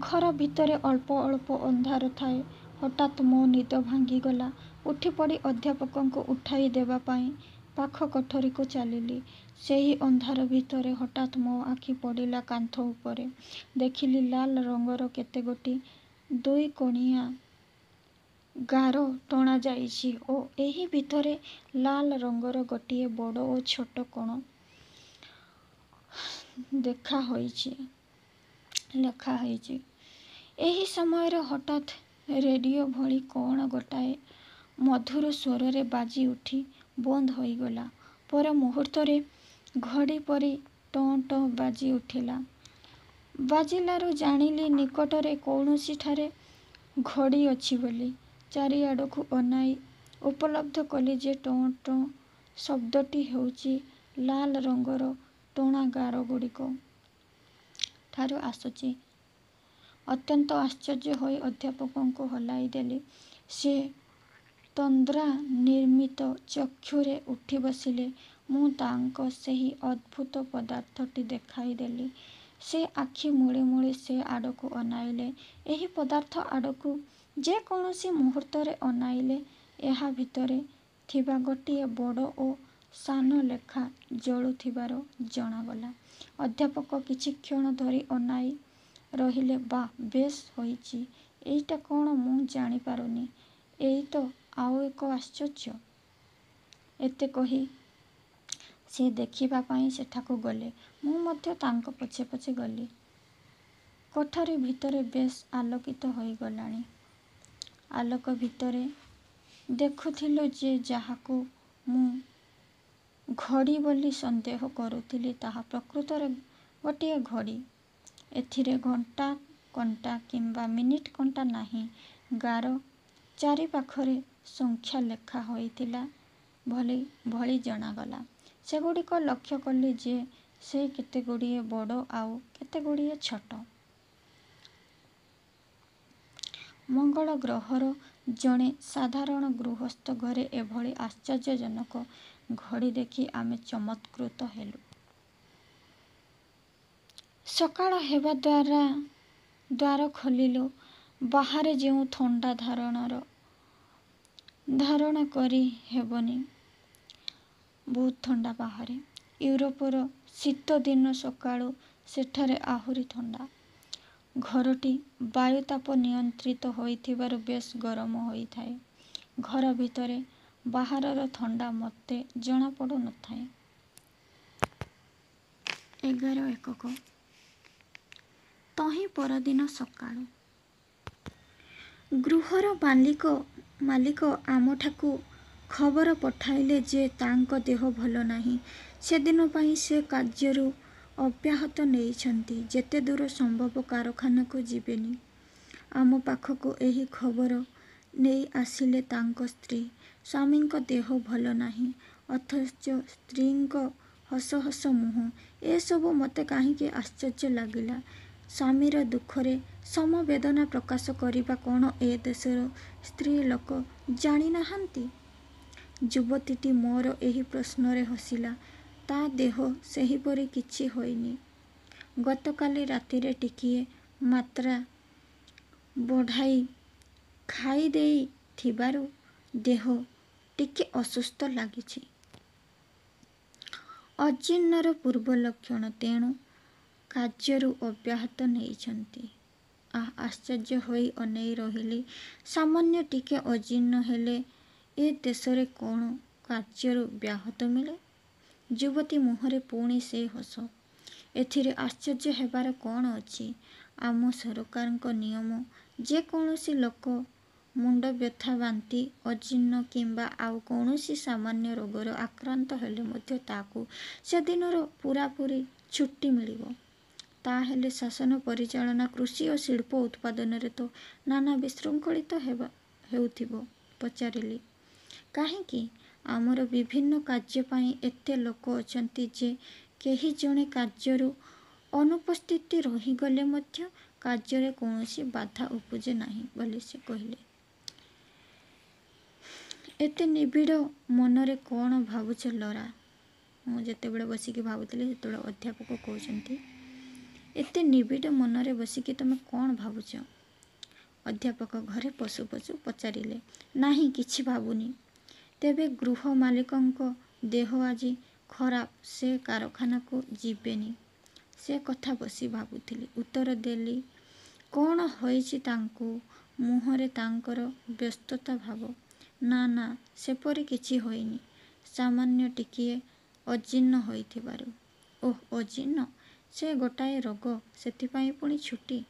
ଘର ଭିତରେ ଅଳ୍ପ ଅଳ୍ପ ଅନ୍ଧାର ଥାଏ। ହଠାତ୍ ମୋ ନିଦ ଭାଙ୍ଗିଗଲା। ଉଠିପଡ଼ି ଅଧ୍ୟାପକଙ୍କୁ ଉଠାଇ ଦେବା ପାଇଁ ପାଖ କୋଠରିକୁ ଚାଲିଲି। ସେହି ଅନ୍ଧାର ଭିତରେ ହଠାତ୍ ମୋ ଆଖି ପଡ଼ିଲା କାନ୍ଥ ଉପରେ। ଦେଖିଲି ଲାଲ ରଙ୍ଗର କେତେଗୋଟି ଦୁଇକୋଣିଆ ଗାର ଟଣାଯାଇଛି ଓ ଏହି ଭିତରେ ଲାଲ ରଙ୍ଗର ଗୋଟିଏ ବଡ଼ ଓ ଛୋଟ କଣ ଲେଖା ହୋଇଛି। ଏହି ସମୟରେ ହଠାତ୍ ରେଡ଼ିଓ ଭଳି କଅଣ ଗୋଟାଏ ମଧୁର ସ୍ୱରରେ ବାଜିଉଠି ବନ୍ଦ ହୋଇଗଲା। ପର ମୁହୂର୍ତ୍ତରେ ଘଡ଼ି ପରି ଟଁ ଟଁ ବାଜି ଉଠିଲା। ବାଜିଲାରୁ ଜାଣିଲି ନିକଟରେ କୌଣସିଠାରେ ଘଡ଼ି ଅଛି ବୋଲି। ଚାରିଆଡ଼କୁ ଅନାଇ ଉପଲବ୍ଧ କଲି ଯେ ଟଁ ଟଁ ଶବ୍ଦଟି ହେଉଛି ଲାଲ ରଙ୍ଗର ଟଣା ଗାରଗୁଡ଼ିକ ଠାରୁ ଆସୁଛି। ଅତ୍ୟନ୍ତ ଆଶ୍ଚର୍ଯ୍ୟ ହୋଇ ଅଧ୍ୟାପକଙ୍କୁ ହଲାଇ ଦେଲି। ସେ ତନ୍ଦ୍ରାନିର୍ମିତ ଚକ୍ଷୁରେ ଉଠି ବସିଲେ। ମୁଁ ତାଙ୍କୁ ସେହି ଅଦ୍ଭୁତ ପଦାର୍ଥଟି ଦେଖାଇ ଦେଲି। ସେ ଆଖି ମୂଳି ମୂଳି ସେ ଆଡ଼କୁ ଅନାଇଲେ। ଏହି ପଦାର୍ଥ ଆଡ଼କୁ ଯେ କୌଣସି ମୁହୂର୍ତ୍ତରେ ଅନାଇଲେ ଏହା ଭିତରେ ଥିବା ଗୋଟିଏ ବଡ଼ ଓ ସାନ ଲେଖା ଜଳୁଥିବାର ଜଣାଗଲା। ଅଧ୍ୟାପକ କିଛିକ୍ଷଣ ଧରି ଅନାଇ ରହିଲେ। ବାଃ, ବେଶ୍ ହୋଇଛି। ଏଇଟା କଅଣ ମୁଁ ଜାଣି ପାରୁନି। ଏଇ ତ ଆଉ ଏକ ଆଶ୍ଚର୍ଯ୍ୟ। ଏତେ କହି ସେ ଦେଖିବା ପାଇଁ ସେଠାକୁ ଗଲେ। ମୁଁ ମଧ୍ୟ ତାଙ୍କ ପଛେ ପଛେ ଗଲି। କୋଠରି ଭିତର ବେଶ୍ ଆଲୋକିତ ହୋଇଗଲାଣି। ଆଲୋକ ଭିତରେ ଦେଖୁଥିଲି ଯେ ଯାହାକୁ ମୁଁ ଘଡ଼ି ବୋଲି ସନ୍ଦେହ କରୁଥିଲି, ତାହା ପ୍ରକୃତରେ ଗୋଟିଏ ଘଡ଼ି। ଏଥିରେ ଘଣ୍ଟା କଣ୍ଟା କିମ୍ବା ମିନିଟ୍ କଣ୍ଟା ନାହିଁ। ଗାର ଚାରିପାଖରେ ସଂଖ୍ୟା ଲେଖା ହୋଇଥିଲା ଭଳି ଜଣାଗଲା। ସେଗୁଡ଼ିକ ଲକ୍ଷ୍ୟ କଲି ଯେ ସେ କେତେଗୁଡ଼ିଏ ବଡ଼ ଆଉ କେତେଗୁଡ଼ିଏ ଛୋଟ। ମଙ୍ଗଳ ଗ୍ରହର ଜଣେ ସାଧାରଣ ଗୃହସ୍ଥ ଘରେ ଏଭଳି ଆଶ୍ଚର୍ଯ୍ୟଜନକ ଘଡ଼ି ଦେଖି ଆମେ ଚମତ୍କୃତ ହେଲୁ। ସକାଳ ହେବା ଦ୍ୱାର ଖୋଲିଲୁ। ବାହାରେ ଯେଉଁ ଥଣ୍ଡା, ଧାରଣା କରି ହେବନି। ବହୁତ ଥଣ୍ଡା ବାହାରେ। ୟୁରୋପର ଶୀତଦିନ ସକାଳୁ ସେଠାରେ ଆହୁରି ଥଣ୍ଡା। ଘରଟି ବାୟୁତାପ ନିୟନ୍ତ୍ରିତ ହୋଇଥିବାରୁ ବେଶ୍ ଗରମ ହୋଇଥାଏ। ଘର ଭିତରେ ବାହାରର ଥଣ୍ଡା ମୋଟେ ଜଣାପଡ଼ୁ ନ ଥାଏ। ଏଗାର ଏକକ ତହିଁ ପରଦିନ ସକାଳୁ। ଗୃହର ମାଲିକ ଆମଠାକୁ ଖବର ପଠାଇଲେ ଯେ ତାଙ୍କ ଦେହ ଭଲ ନାହିଁ। ସେଦିନ ପାଇଁ ସେ କାର୍ଯ୍ୟରୁ ଅବ୍ୟାହତି ନେଇଛନ୍ତି। ଯେତେଦୂର ସମ୍ଭବ କାରଖାନାକୁ ଯିବେନି। ଆମ ପାଖକୁ ଏହି ଖବର ନେଇ ଆସିଲେ ତାଙ୍କ ସ୍ତ୍ରୀ। ସ୍ୱାମୀଙ୍କ ଦେହ ଭଲ ନାହିଁ, ଅଥଚ ସ୍ତ୍ରୀଙ୍କ ହସ ହସ ମୁହଁ; ଏସବୁ ମୋତେ କାହିଁକି ଆଶ୍ଚର୍ଯ୍ୟ ଲାଗିଲା। ସ୍ୱାମୀର ଦୁଃଖରେ ସମବେଦନା ପ୍ରକାଶ କରିବା କଅଣ ଏ ଦେଶର ସ୍ତ୍ରୀଲୋକ ଜାଣି ନାହାନ୍ତି? ଯୁବତୀଟି ମୋର ଏହି ପ୍ରଶ୍ନରେ ହସିଲା। ତା ଦେହ ସେହିପରି କିଛି ହୋଇନି। ଗତକାଲି ରାତିରେ ଟିକିଏ ମାତ୍ରା ବଢ଼ାଇ ଖାଇଦେଇ ଥିବାରୁ ଦେହ ଟିକେ ଅସୁସ୍ଥ ଲାଗିଛି। ଅଜୀର୍ଣ୍ଣର ପୂର୍ବ ଲକ୍ଷଣ। ତେଣୁ କାର୍ଯ୍ୟରୁ ଅବ୍ୟାହତି ନେଇଛନ୍ତି। ଆଃ, ଆଶ୍ଚର୍ଯ୍ୟ ହୋଇ ଅନାଇ ରହିଲି। ସାମାନ୍ୟ ଟିକେ ଅଜୀର୍ଣ୍ଣ ହେଲେ ଏ ଦେଶରେ କ'ଣ କାର୍ଯ୍ୟରୁ ବ୍ୟାହତି ମିଳେ? ଯୁବତୀ ମୁହଁରେ ପୁଣି ସେ ହସ। ଏଥିରେ ଆଶ୍ଚର୍ଯ୍ୟ ହେବାର କ'ଣ ଅଛି? ଆମ ସରକାରଙ୍କ ନିୟମ, ଯେ କୌଣସି ଲୋକ ମୁଣ୍ଡବ୍ୟଥା, ବାନ୍ତି, ଅଜୀର୍ଣ୍ଣ କିମ୍ବା ଆଉ କୌଣସି ସାମାନ୍ୟ ରୋଗରେ ଆକ୍ରାନ୍ତ ହେଲେ ମଧ୍ୟ ତାକୁ ସେଦିନର ପୂରାପୂରି ଛୁଟି ମିଳିବ। ତା ହେଲେ ଶାସନ ପରିଚାଳନା, କୃଷି ଓ ଶିଳ୍ପ ଉତ୍ପାଦନରେ ତ ନାନା ବିଶୃଙ୍ଖଳିତ ହେଉଥିବ? ପଚାରିଲି। କାହିଁକି? ଆମର ବିଭିନ୍ନ କାର୍ଯ୍ୟ ପାଇଁ ଏତେ ଲୋକ ଅଛନ୍ତି ଯେ କେହି ଜଣେ କାର୍ଯ୍ୟରୁ ଅନୁପସ୍ଥିତ ରହିଗଲେ ମଧ୍ୟ କାର୍ଯ୍ୟରେ କୌଣସି ବାଧା ଉପୁଜେ ନାହିଁ ବୋଲି ସେ କହିଲେ। ଏତେ ନିବିଡ଼ ମନରେ କ'ଣ ଭାବୁଛ ଲରା? ମୁଁ ଯେତେବେଳେ ବସିକି ଭାବୁଥିଲି ସେତେବେଳେ ଅଧ୍ୟାପକ କହୁଛନ୍ତି, ଏତେ ନିବିଡ଼ ମନରେ ବସିକି ତୁମେ କ'ଣ ଭାବୁଛ? ଅଧ୍ୟାପକ ଘରେ ପଶୁ ପଶୁ ପଚାରିଲେ। ନାହିଁ, କିଛି ଭାବୁନି। ତେବେ ଗୃହ ମାଲିକଙ୍କ ଦେହ ଆଜି ଖରାପ, ସେ କାରଖାନାକୁ ଯିବେନି, ସେ କଥା ବସି ଭାବୁଥିଲି, ଉତ୍ତର ଦେଲି। କ'ଣ ହୋଇଛି ତାଙ୍କୁ? ମୁହଁରେ ତାଙ୍କର ବ୍ୟସ୍ତତା ଭାବ। ନା ନା, ସେପରି କିଛି ହୋଇନି। ସାମାନ୍ୟ ଟିକିଏ ଅଜୀର୍ଣ୍ଣ ହୋଇଥିବାରୁ। ଓଃ, ଅଜୀର୍ଣ୍ଣ! ସେ ଗୋଟାଏ ରୋଗ, ସେଥିପାଇଁ ପୁଣି ଛୁଟି?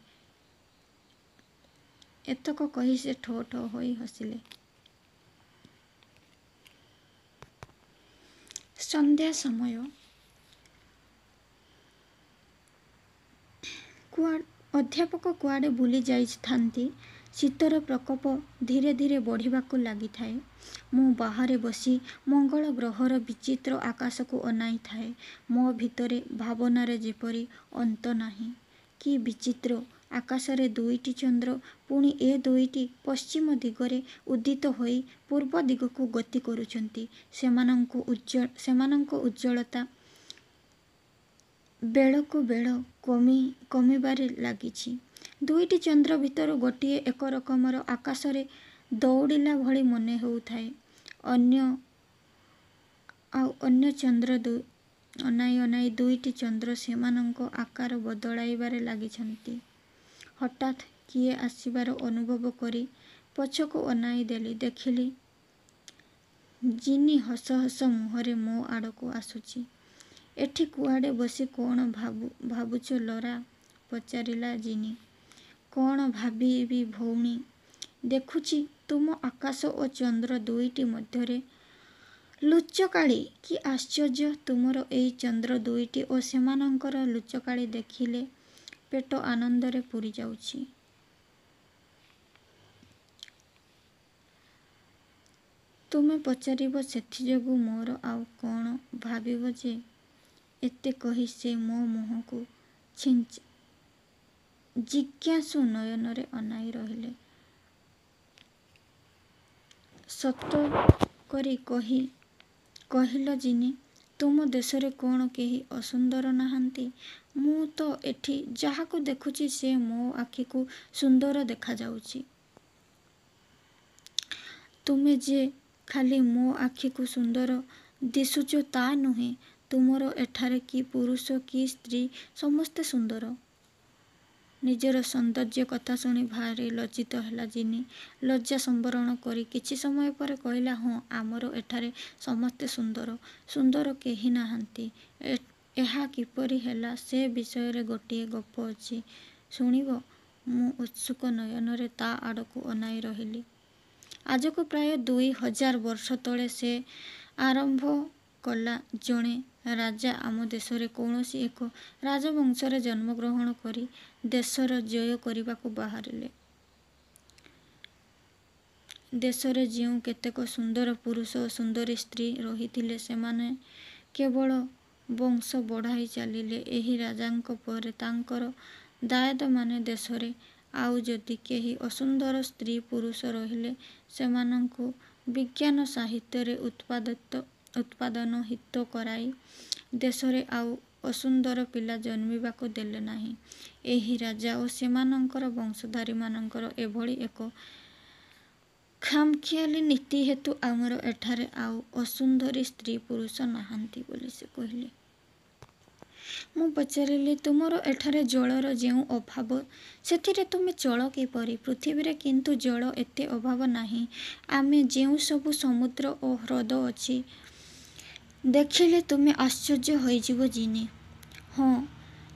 ଏତକ କହି ସେ ଠୋ ଠୋ ହୋଇ ହସିଲେ। ସନ୍ଧ୍ୟା ସମୟ। ଅଧ୍ୟାପକ କୁଆଡ଼େ ବୁଲି ଯାଇଥାନ୍ତି। ଶୀତର ପ୍ରକୋପ ଧୀରେ ଧୀରେ ବଢ଼ିବାକୁ ଲାଗିଥାଏ। ମୁଁ ବାହାରେ ବସି ମଙ୍ଗଳ ଗ୍ରହର ବିଚିତ୍ର ଆକାଶକୁ ଅନାଇଥାଏ। ମୋ ଭିତରେ ଭାବନାର ଯେପରି ଅନ୍ତ ନାହିଁ। କି ବିଚିତ୍ର! ଆକାଶରେ ଦୁଇଟି ଚନ୍ଦ୍ର, ପୁଣି ଏ ଦୁଇଟି ପଶ୍ଚିମ ଦିଗରେ ଉଦିତ ହୋଇ ପୂର୍ବ ଦିଗକୁ ଗତି କରୁଛନ୍ତି। ସେମାନଙ୍କ ଉଜ୍ଜ୍ୱଳତା ବେଳକୁ ବେଳ କମିବାରେ ଲାଗିଛି। ଦୁଇଟି ଚନ୍ଦ୍ର ଭିତରୁ ଗୋଟିଏ ଏକରକମର ଆକାଶରେ ଦଉଡ଼ିଲା ଭଳି ମନେ ହେଉଥାଏ। ଅନ୍ୟ ଆଉ ଅନ୍ୟ ଚନ୍ଦ୍ର ଅନାଇ ଅନାଇ ଦୁଇଟି ଚନ୍ଦ୍ର ସେମାନଙ୍କ ଆକାର ବଦଳାଇବାରେ ଲାଗିଛନ୍ତି। ହଠାତ୍ କିଏ ଆସିବାର ଅନୁଭବ କରି ପଛକୁ ଅନାଇ ଦେଲି। ଦେଖିଲି, ଜିନି ହସ ହସ ମୁହଁରେ ମୋ ଆଡ଼କୁ ଆସୁଛି। ଏଠି କୁଆଡ଼େ ବସି କ'ଣ ଭାବୁଛ ଲରା? ପଚାରିଲା ଜିନି। କ'ଣ ଭାବିବି ଭଉଣୀ? ଦେଖୁଛି ତୁମ ଆକାଶ ଓ ଚନ୍ଦ୍ର ଦୁଇଟି ମଧ୍ୟରେ ଲୁଚକାଳି। କି ଆଶ୍ଚର୍ଯ୍ୟ! ତୁମର ଏଇ ଚନ୍ଦ୍ର ଦୁଇଟି ଓ ସେମାନଙ୍କର ଲୁଚକାଳି ଦେଖିଲେ ପେଟ ଆନନ୍ଦରେ ପୂରିଯାଉଛି। ତୁମେ ପଚାରିବ ସେଥିଯୋଗୁଁ ମୋର ଆଉ କ'ଣ ଭାବିବ ଯେ? ଏତେ କହି ସେ ମୋ ମୁହଁକୁ ଜିଜ୍ଞାସୁ ନୟନରେ ଅନାଇ ରହିଲେ। ସତ କରି କହିଲ ଜିନି, ତୁମ ଦେଶରେ କ'ଣ କେହି ଅସୁନ୍ଦର ନାହାନ୍ତି? ମୁଁ ତ ଏଠି ଯାହାକୁ ଦେଖୁଛି ସେ ମୋ ଆଖିକୁ ସୁନ୍ଦର ଦେଖାଯାଉଛି। ତୁମେ ଯେ ଖାଲି ମୋ ଆଖିକୁ ସୁନ୍ଦର ଦିଶୁଛ ତା' ନୁହେଁ, ତୁମର ଏଠାରେ କି ପୁରୁଷ କି ସ୍ତ୍ରୀ ସମସ୍ତେ ସୁନ୍ଦର। ନିଜର ସୌନ୍ଦର୍ଯ୍ୟ କଥା ଶୁଣି ଭାରି ଲଜ୍ଜିତ ହେଲା ଜିନି। ଲଜ୍ଜା ସମ୍ବରଣ କରି କିଛି ସମୟ ପରେ କହିଲା, ହଁ, ଆମର ଏଠାରେ ସମସ୍ତେ ସୁନ୍ଦର। ସୁନ୍ଦର କେହି ନାହାନ୍ତି। ଏହା କିପରି ହେଲା ସେ ବିଷୟରେ ଗୋଟିଏ ଗପ ଅଛି, ଶୁଣିବ? ମୁଁ ଉତ୍ସୁକ ନୟନରେ ତା' ଆଡ଼କୁ ଅନାଇ ରହିଲି। ଆଜକୁ ପ୍ରାୟ ଦୁଇ ହଜାର ବର୍ଷ ତଳେ ସେ ଆରମ୍ଭ କଲା, ଜଣେ ରାଜା ଆମ ଦେଶରେ କୌଣସି ଏକ ରାଜବଂଶରେ ଜନ୍ମଗ୍ରହଣ କରି ଦେଶର ଜୟ କରିବାକୁ ବାହାରିଲେ। ଦେଶରେ ଯେଉଁ କେତେକ ସୁନ୍ଦର ପୁରୁଷ ଓ ସୁନ୍ଦରୀ ସ୍ତ୍ରୀ ରହିଥିଲେ, ସେମାନେ କେବଳ ବଂଶ ବଢ଼ାଇ ଚାଲିଲେ। ଏହି ରାଜାଙ୍କ ପରେ ତାଙ୍କର ଦାୟାଦମାନେ ଦେଶରେ ଆଉ ଯଦି କେହି ଅସୁନ୍ଦର ସ୍ତ୍ରୀ ପୁରୁଷ ରହିଲେ, ସେମାନଙ୍କୁ ବିଜ୍ଞାନ ସାହିତ୍ୟରେ ଉତ୍ପାଦନ ହିତ କରାଇ ଦେଶରେ ଆଉ ଅସୁନ୍ଦର ପିଲା ଜନ୍ମିବାକୁ ଦେଲେ ନାହିଁ। ଏହି ରାଜା ଓ ସେମାନଙ୍କର ବଂଶଧାରୀମାନଙ୍କର ଏଭଳି ଏକ ଖାମଖିଆଲି ନୀତି ହେତୁ ଆମର ଏଠାରେ ଆଉ ଅସୁନ୍ଦରୀ ସ୍ତ୍ରୀ ପୁରୁଷ ନାହାନ୍ତି ବୋଲି ସେ କହିଲେ। ମୁଁ ପଚାରିଲି, ତୁମର ଏଠାରେ ଜଳର ଯେଉଁ ଅଭାବ, ସେଥିରେ ତୁମେ ଚଳ କିପରି? ପୃଥିବୀରେ କିନ୍ତୁ ଜଳ ଏତେ ଅଭାବ ନାହିଁ। ଆମେ ଯେଉଁସବୁ ସମୁଦ୍ର ଓ ହ୍ରଦ ଅଛି, ଦେଖିଲେ ତୁମେ ଆଶ୍ଚର୍ଯ୍ୟ ହୋଇଯିବ ଜିନି। ହଁ,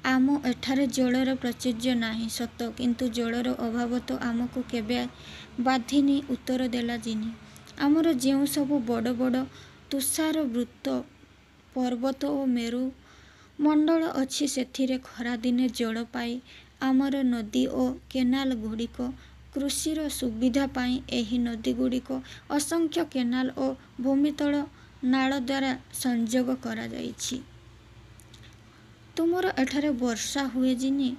ଆମ ଏଠାରେ ଜଳର ପ୍ରାଚୁର୍ଯ୍ୟ ନାହିଁ ସତ, କିନ୍ତୁ ଜଳର ଅଭାବ ତ ଆମକୁ କେବେ ବାଧିନି ଉତ୍ତର ଦେଲା ଜିନି। ଆମର ଯେଉଁସବୁ ବଡ଼ ବଡ଼ ତୁଷାରାବୃତ ପର୍ବତ ଓ ମେରୁମଣ୍ଡଳ ଅଛି, ସେଥିରେ ଖରାଦିନେ ଜଳ ପାଇଁ ଆମର ନଦୀ ଓ କେନାଲଗୁଡ଼ିକ କୃଷିର ସୁବିଧା ପାଇଁ ଏହି ନଦୀଗୁଡ଼ିକ ଅସଂଖ୍ୟ କେନାଲ ଓ ଭୂମିତଳ ନାଳଦ୍ୱାରା ସଂଯୋଗ କରାଯାଇଛି। ତୁମର ଏଠାରେ ବର୍ଷା ହୁଏ ଜିନି?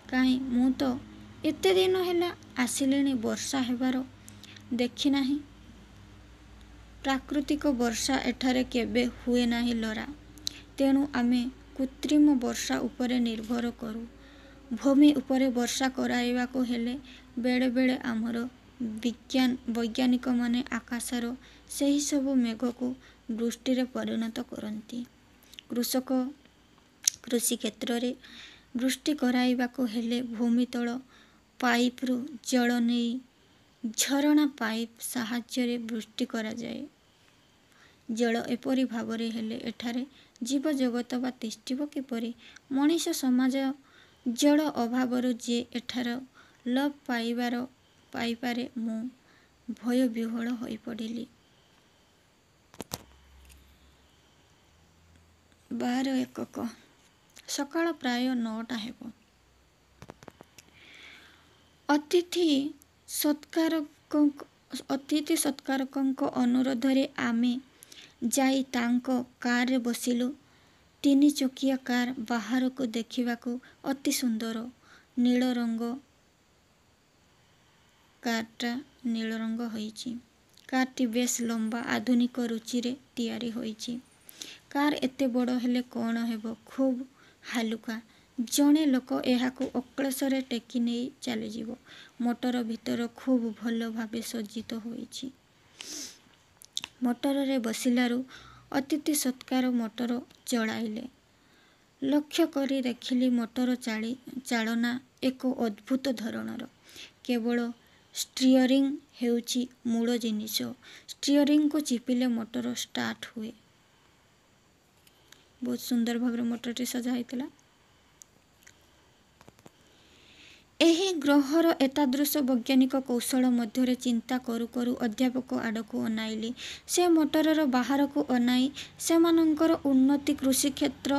କାହିଁ, ମୁଁ ତ ଏତେ ଦିନ ହେଲା ଆସିଲିଣି ବର୍ଷା ହେବାର ଦେଖିନାହିଁ। ପ୍ରାକୃତିକ ବର୍ଷା ଏଠାରେ କେବେ ହୁଏ ନାହିଁ ଲରା। ତେଣୁ ଆମେ କୃତ୍ରିମ ବର୍ଷା ଉପରେ ନିର୍ଭର କରୁ। ଭୂମି ଉପରେ ବର୍ଷା କରାଇବାକୁ ହେଲେ ବେଳେ ବେଳେ ଆମର ବୈଜ୍ଞାନିକମାନେ ଆକାଶର ସେହିସବୁ ମେଘକୁ ବୃଷ୍ଟିରେ ପରିଣତ କରନ୍ତି। କୃଷକ କୃଷିକ୍ଷେତ୍ରରେ ବୃଷ୍ଟି କରାଇବାକୁ ହେଲେ ଭୂମିତଳ ପାଇପରୁ ଜଳ ନେଇ ଝରଣା ପାଇପ୍ ସାହାଯ୍ୟରେ ବୃଷ୍ଟି କରାଯାଏ। ଜଳ ଏପରି ଭାବରେ ହେଲେ ଏଠାରେ ଜୀବଜଗତ ବା ତିଷ୍ଠିବ କିପରି? ମଣିଷ ସମାଜ ଜଳ ଅଭାବରୁ ଯେ ଏଠାରେ ଲୋପ ପାଇପାରେ ମୁଁ ଭୟବିହ୍ୱଳ ହୋଇପଡ଼ିଲି। ବାର ଏକକ। ସକାଳ ପ୍ରାୟ ନଅଟା ହେବ। ଅତିଥି ସତ୍କାରକଙ୍କ ଅନୁରୋଧରେ ଆମେ ଯାଇ ତାଙ୍କ କାରରେ ବସିଲୁ। ତିନିଚକିଆ କାର ବାହାରକୁ ଦେଖିବାକୁ ଅତି ସୁନ୍ଦର। ନୀଳ ରଙ୍ଗ କାରଟା ନୀଳ ରଙ୍ଗ ହୋଇଛି। କାରଟି ବେଶ୍ ଲମ୍ବା, ଆଧୁନିକ ରୁଚିରେ ତିଆରି ହୋଇଛି। କାର ଏତେ ବଡ଼ ହେଲେ କ'ଣ ହେବ, ଖୁବ୍ ହାଲୁକା। ଜଣେ ଲୋକ ଏହାକୁ ଅକ୍ଳେଶରେ ଟେକି ନେଇ ଚାଲିଯିବ। ମୋଟର ଭିତର ଖୁବ୍ ଭଲ ଭାବେ ସଜ୍ଜିତ ହୋଇଛି। ମୋଟରରେ ବସିଲାରୁ ଅତିଥି ସତ୍କାର ମୋଟର ଚଳାଇଲେ। ଲକ୍ଷ୍ୟ କରି ଦେଖିଲି ମୋଟର ଚାଳନା ଏକ ଅଦ୍ଭୁତ ଧରଣର। କେବଳ ଷ୍ଟିଅରିଂ ହେଉଛି ମୂଳ ଜିନିଷ। ଷ୍ଟିଅରିଂକୁ ଚିପିଲେ ମୋଟର ଷ୍ଟାର୍ଟ ହୁଏ। ବହୁତ ସୁନ୍ଦର ଭାବରେ ମୋଟରଟି ସଜା ହୋଇଥିଲା। ଏହି ଗ୍ରହର ଏତାଦୃଶ ବୈଜ୍ଞାନିକ କୌଶଳ ମଧ୍ୟରେ ଚିନ୍ତା କରୁ କରୁ ଅଧ୍ୟାପକ ଆଡ଼କୁ ଅନାଇଲି। ସେ ମୋଟରର ବାହାରକୁ ଅନାଇ ସେମାନଙ୍କର ଉନ୍ନତ କୃଷିକ୍ଷେତ୍ର,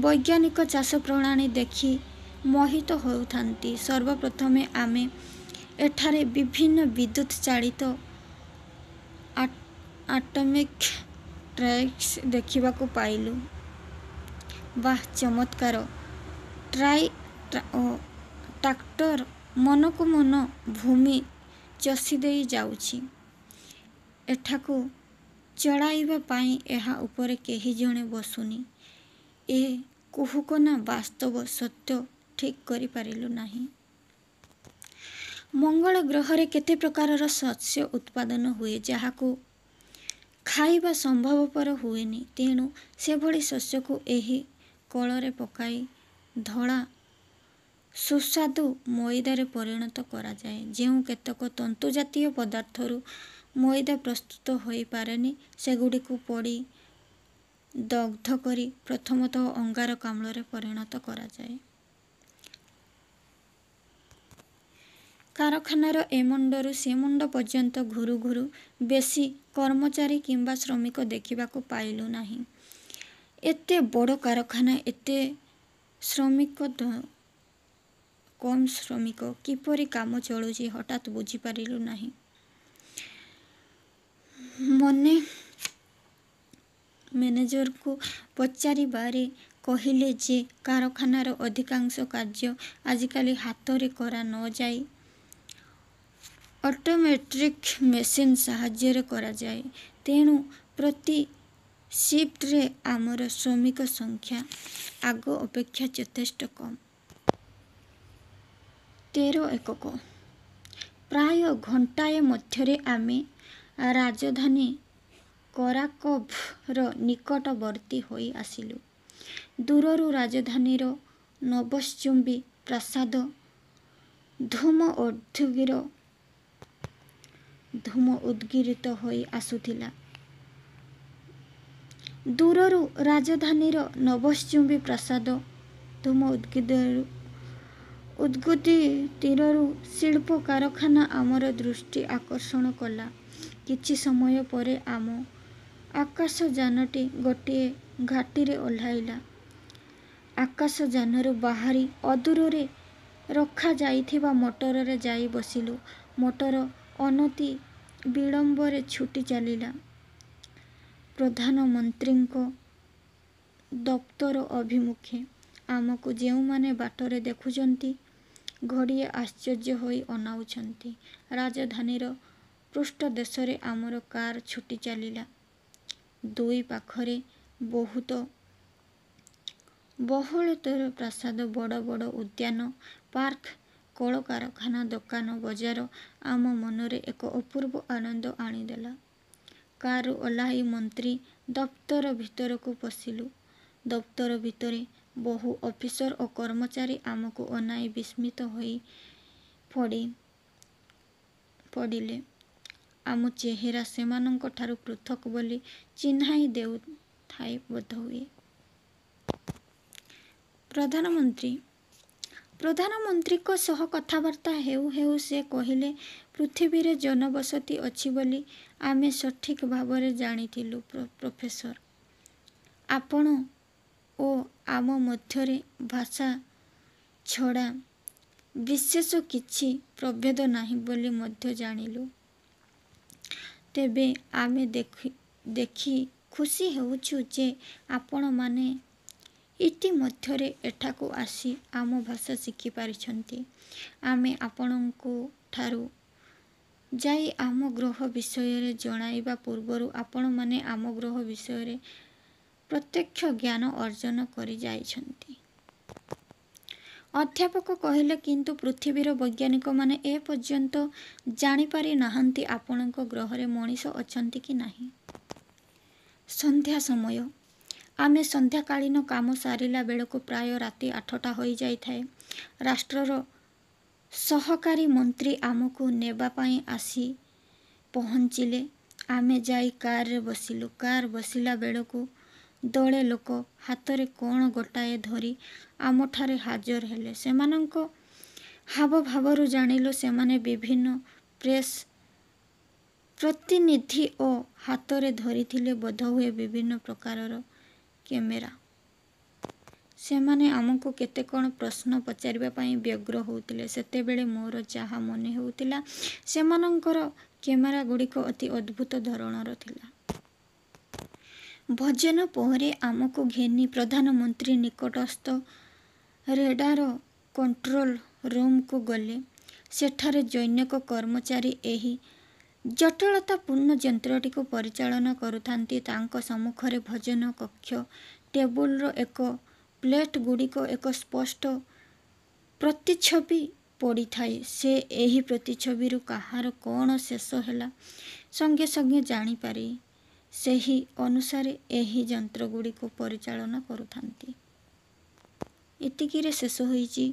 ବୈଜ୍ଞାନିକ ଚାଷପ୍ରଣାଳୀ ଦେଖି ମୋହିତ ହେଉଥାନ୍ତି। ସର୍ବପ୍ରଥମେ ଆମେ ଏଠାରେ ବିଭିନ୍ନ ବିଦ୍ୟୁତ୍ ଚାଳିତ ଅଟୋମେଟିକ୍ ଟ୍ରାକ୍ଟର୍ସ ଦେଖିବାକୁ ପାଇଲୁ। ବାଃ, ଚମତ୍କାର! ଟ୍ରାକ୍ଟର ମନକୁ ମନ ଭୂମି ଚଷିଦେଇ ଯାଉଛି। ଏଠାକୁ ଚଳାଇବା ପାଇଁ ଏହା ଉପରେ କେହି ଜଣେ ବସୁନି। ଏ କୁହୁକ ନା ବାସ୍ତବ ସତ୍ୟ ଠିକ୍ କରିପାରିଲୁ ନାହିଁ। ମଙ୍ଗଳ ଗ୍ରହରେ କେତେ ପ୍ରକାରର ଶସ୍ୟ ଉତ୍ପାଦନ ହୁଏ, ଯାହାକୁ ଖାଇବା ସମ୍ଭବପର ହୁଏନି। ତେଣୁ ସେଭଳି ଶସ୍ୟକୁ ଏହି କଳରେ ପକାଇ ଧଳା ସୁସ୍ୱାଦୁ ମଇଦାରେ ପରିଣତ କରାଯାଏ। ଯେଉଁ କେତେକ ତନ୍ତୁଜାତୀୟ ପଦାର୍ଥରୁ ମଇଦା ପ୍ରସ୍ତୁତ ହୋଇପାରେନି, ସେଗୁଡ଼ିକୁ ପୋଡ଼ି ଦଗ୍ଧ କରି ପ୍ରଥମତଃ ଅଙ୍ଗାରକାମ୍ଳରେ ପରିଣତ କରାଯାଏ। କାରଖାନାର ଏ ମୁଣ୍ଡରୁ ସେ ମୁଣ୍ଡ ପର୍ଯ୍ୟନ୍ତ ଘୁରୁ ଘୁରୁ ବେଶି କର୍ମଚାରୀ କିମ୍ବା ଶ୍ରମିକ ଦେଖିବାକୁ ପାଇଲୁ ନାହିଁ। ଏତେ ବଡ଼ କାରଖାନା, ଏତେ ଶ୍ରମିକ କମ୍ ଶ୍ରମିକ, କିପରି କାମ ଚଳୁଛି ହଠାତ୍ ବୁଝିପାରିଲୁ ନାହିଁ। ମନେ ମ୍ୟାନେଜରଙ୍କୁ ପଚାରିବାରେ କହିଲେ ଯେ କାରଖାନାର ଅଧିକାଂଶ କାର୍ଯ୍ୟ ଆଜିକାଲି ହାତରେ କରା ନ ଯାଇ ଅଟୋମେଟିକ୍ ମେସିନ୍ ସାହାଯ୍ୟରେ କରାଯାଏ। ତେଣୁ ପ୍ରତି ସିଫ୍ଟରେ ଆମର ଶ୍ରମିକ ସଂଖ୍ୟା ଆଗ ଅପେକ୍ଷା ଯଥେଷ୍ଟ କମ୍। ତେର ଏକକ। ପ୍ରାୟ ଘଣ୍ଟାଏ ମଧ୍ୟରେ ଆମେ ରାଜଧାନୀ କରାକୋଭ୍ର ନିକଟବର୍ତ୍ତୀ ହୋଇ ଆସିଲୁ। ଦୂରରୁ ରାଜଧାନୀର ନଭଶ୍ଚୁମ୍ବୀ ପ୍ରାସାଦ ଧୂମ ଧୂମ ଉଦ୍ଗୀରିତ ହୋଇ ଆସୁଥିଲା। ଦୂରରୁ ରାଜଧାନୀର ନଭଶ୍ଚୁମ୍ବୀ ପ୍ରାସାଦ ଧୂମ ଉଦ୍ଗୀରିତ ଶିଳ୍ପ କାରଖାନା ଆମର ଦୃଷ୍ଟି ଆକର୍ଷଣ କଲା। କିଛି ସମୟ ପରେ ଆମ ଆକାଶଯାନଟି ଗୋଟିଏ ଘାଟିରେ ଓହ୍ଲାଇଲା। ଆକାଶଯାନରୁ ବାହାରି ଅଦୂରରେ ରଖାଯାଇଥିବା ମଟରରେ ଯାଇ ବସିଲୁ। ମଟର ଅନତିବିଳମ୍ବରେ ଛୁଟି ଚାଲିଲା ପ୍ରଧାନମନ୍ତ୍ରୀଙ୍କ ଦପ୍ତର ଅଭିମୁଖେ। ଆମକୁ ଯେଉଁମାନେ ବାଟରେ ଦେଖୁଛନ୍ତି, ଘଡ଼ିଏ ଆଶ୍ଚର୍ଯ୍ୟ ହୋଇ ଅନାଉଛନ୍ତି। ରାଜଧାନୀର ପୃଷ୍ଠଦେଶରେ ଆମର କାର ଛୁଟି ଚାଲିଲା। ଦୁଇ ପାଖରେ ବହୁତ ବହୁଳତର ପ୍ରାସାଦ, ବଡ଼ ବଡ଼ ଉଦ୍ୟାନ, ପାର୍କ, କଳକାରଖାନା, ଦୋକାନ ବଜାର ଆମ ମନରେ ଏକ ଅପୂର୍ବ ଆନନ୍ଦ ଆଣିଦେଲା। କାରରୁ ଓହ୍ଲାଇ ମନ୍ତ୍ରୀ ଦପ୍ତର ଭିତରକୁ ପଶିଲୁ। ଦପ୍ତର ଭିତରେ ବହୁ ଅଫିସର ଓ କର୍ମଚାରୀ ଆମକୁ ଅନାଇ ବିସ୍ମିତ ହୋଇ ପଡ଼ିଲେ। ଆମ ଚେହେରା ସେମାନଙ୍କଠାରୁ ପୃଥକ୍ ବୋଲି ଚିହ୍ନାଇ ଦେଉଥାଏ ବୋଧହୁଏ। ପ୍ରଧାନମନ୍ତ୍ରୀ ପ୍ରଧାନମନ୍ତ୍ରୀଙ୍କ ସହ କଥାବାର୍ତ୍ତା ହେଉ ହେଉ ସେ କହିଲେ, ''ପୃଥିବୀରେ ଜନବସତି ଅଛି ବୋଲି ଆମେ ସଠିକ୍ ଭାବରେ ଜାଣିଥିଲୁ ପ୍ରଫେସର! ଆପଣ ଓ ଆମ ମଧ୍ୟରେ ଭାଷା ଛଡ଼ା ବିଶେଷ କିଛି ପ୍ରଭେଦ ନାହିଁ ବୋଲି ମଧ୍ୟ ଜାଣିଲୁ। ତେବେ ଆମେ ଦେଖି ଖୁସି ହେଉଛୁଁ ଯେ, ଆପଣମାନେ ଇତିମଧ୍ୟରେ ଏଠାକୁ ଆସି ଆମ ଭାଷା ଶିଖିପାରିଛନ୍ତି। ଆମେ ଆପଣଙ୍କଠାକୁ ଯାଇ ଆମ ଗ୍ରହ ବିଷୟରେ ଜଣାଇବା ପୂର୍ବରୁ ଆପଣମାନେ ଆମ ଗ୍ରହ ବିଷୟରେ ପ୍ରତ୍ୟକ୍ଷ ଜ୍ଞାନ ଅର୍ଜନ କରିଯାଇଛନ୍ତି। ଅଧ୍ୟାପକ କହିଲେ, କିନ୍ତୁ ପୃଥିବୀର ବୈଜ୍ଞାନିକମାନେ ଏ ପର୍ଯ୍ୟନ୍ତ ଜାଣିପାରି ନାହାନ୍ତି ଆପଣଙ୍କ ଗ୍ରହରେ ମଣିଷ ଅଛନ୍ତି କି ନାହିଁ। ସନ୍ଧ୍ୟା ସମୟ। ଆମେ ସନ୍ଧ୍ୟାକାଳୀନ କାମ ସାରିଲା ବେଳକୁ ପ୍ରାୟ ରାତି ଆଠଟା ହୋଇ ଯାଇଥାଏ। ରାଷ୍ଟ୍ରର ସହକାରୀ ମନ୍ତ୍ରୀ ଆମକୁ ନେବାପାଇଁ ଆସି ପହଞ୍ଚିଲେ। ଆମେ ଯାଇ କାରରେ ବସିଲୁ। କାରରେ ବସିଲା ବେଳକୁ ଦଳେ ଲୋକ ହାତରେ କ'ଣ ଗୋଟାଏ ଧରି ଆମଠାରେ ହାଜର ହେଲେ। ସେମାନଙ୍କ ହାବଭାବରୁ ଜାଣିଲୁ, ସେମାନେ ବିଭିନ୍ନ ପ୍ରେସ ପ୍ରତିନିଧି ଓ ହାତରେ ଧରିଥିଲେ ବୋଧହୁଏ ବିଭିନ୍ନ ପ୍ରକାରର କ୍ୟାମେରା। ସେମାନେ ଆମକୁ କେତେ କ'ଣ ପ୍ରଶ୍ନ ପଚାରିବା ପାଇଁ ବ୍ୟଗ୍ର ହେଉଥିଲେ। ସେତେବେଳେ ମୋର ଯାହା ମନେ ହେଉଥିଲା, ସେମାନଙ୍କର କ୍ୟାମେରାଗୁଡ଼ିକ ଅତି ଅଦ୍ଭୁତ ଧରଣର ଥିଲା। ଭୋଜନ ପରେ ଆମକୁ ଘେନି ପ୍ରଧାନମନ୍ତ୍ରୀ ନିକଟସ୍ଥ ରେଡ଼ାର କଣ୍ଟ୍ରୋଲ ରୁମ୍କୁ ଗଲେ। ସେଠାରେ ଜନୈକ କର୍ମଚାରୀ ଏହି ଜଟିଳତାପୂର୍ଣ୍ଣ ଯନ୍ତ୍ରଟିକୁ ପରିଚାଳନା କରୁଥାନ୍ତି। ତାଙ୍କ ସମ୍ମୁଖରେ ଭୋଜନ-କକ୍ଷ ଟେବୁଲର ଏକ ପ୍ଲେଟଗୁଡ଼ିକର ଏକ ସ୍ପଷ୍ଟ ପ୍ରତିଚ୍ଛବି ପଡ଼ିଥାଏ। ସେ ଏହି ପ୍ରତିଛବିରୁ କାହାର କ'ଣ ଶେଷ ହେଲା, ସଙ୍ଗେ ସଙ୍ଗେ ଜାଣିପାରି ସେହି ଅନୁସାରେ ଏହି ଯନ୍ତ୍ରଗୁଡ଼ିକୁ ପରିଚାଳନା କରୁଥାନ୍ତି। ଏତିକିରେ ଶେଷ ହୋଇଛି।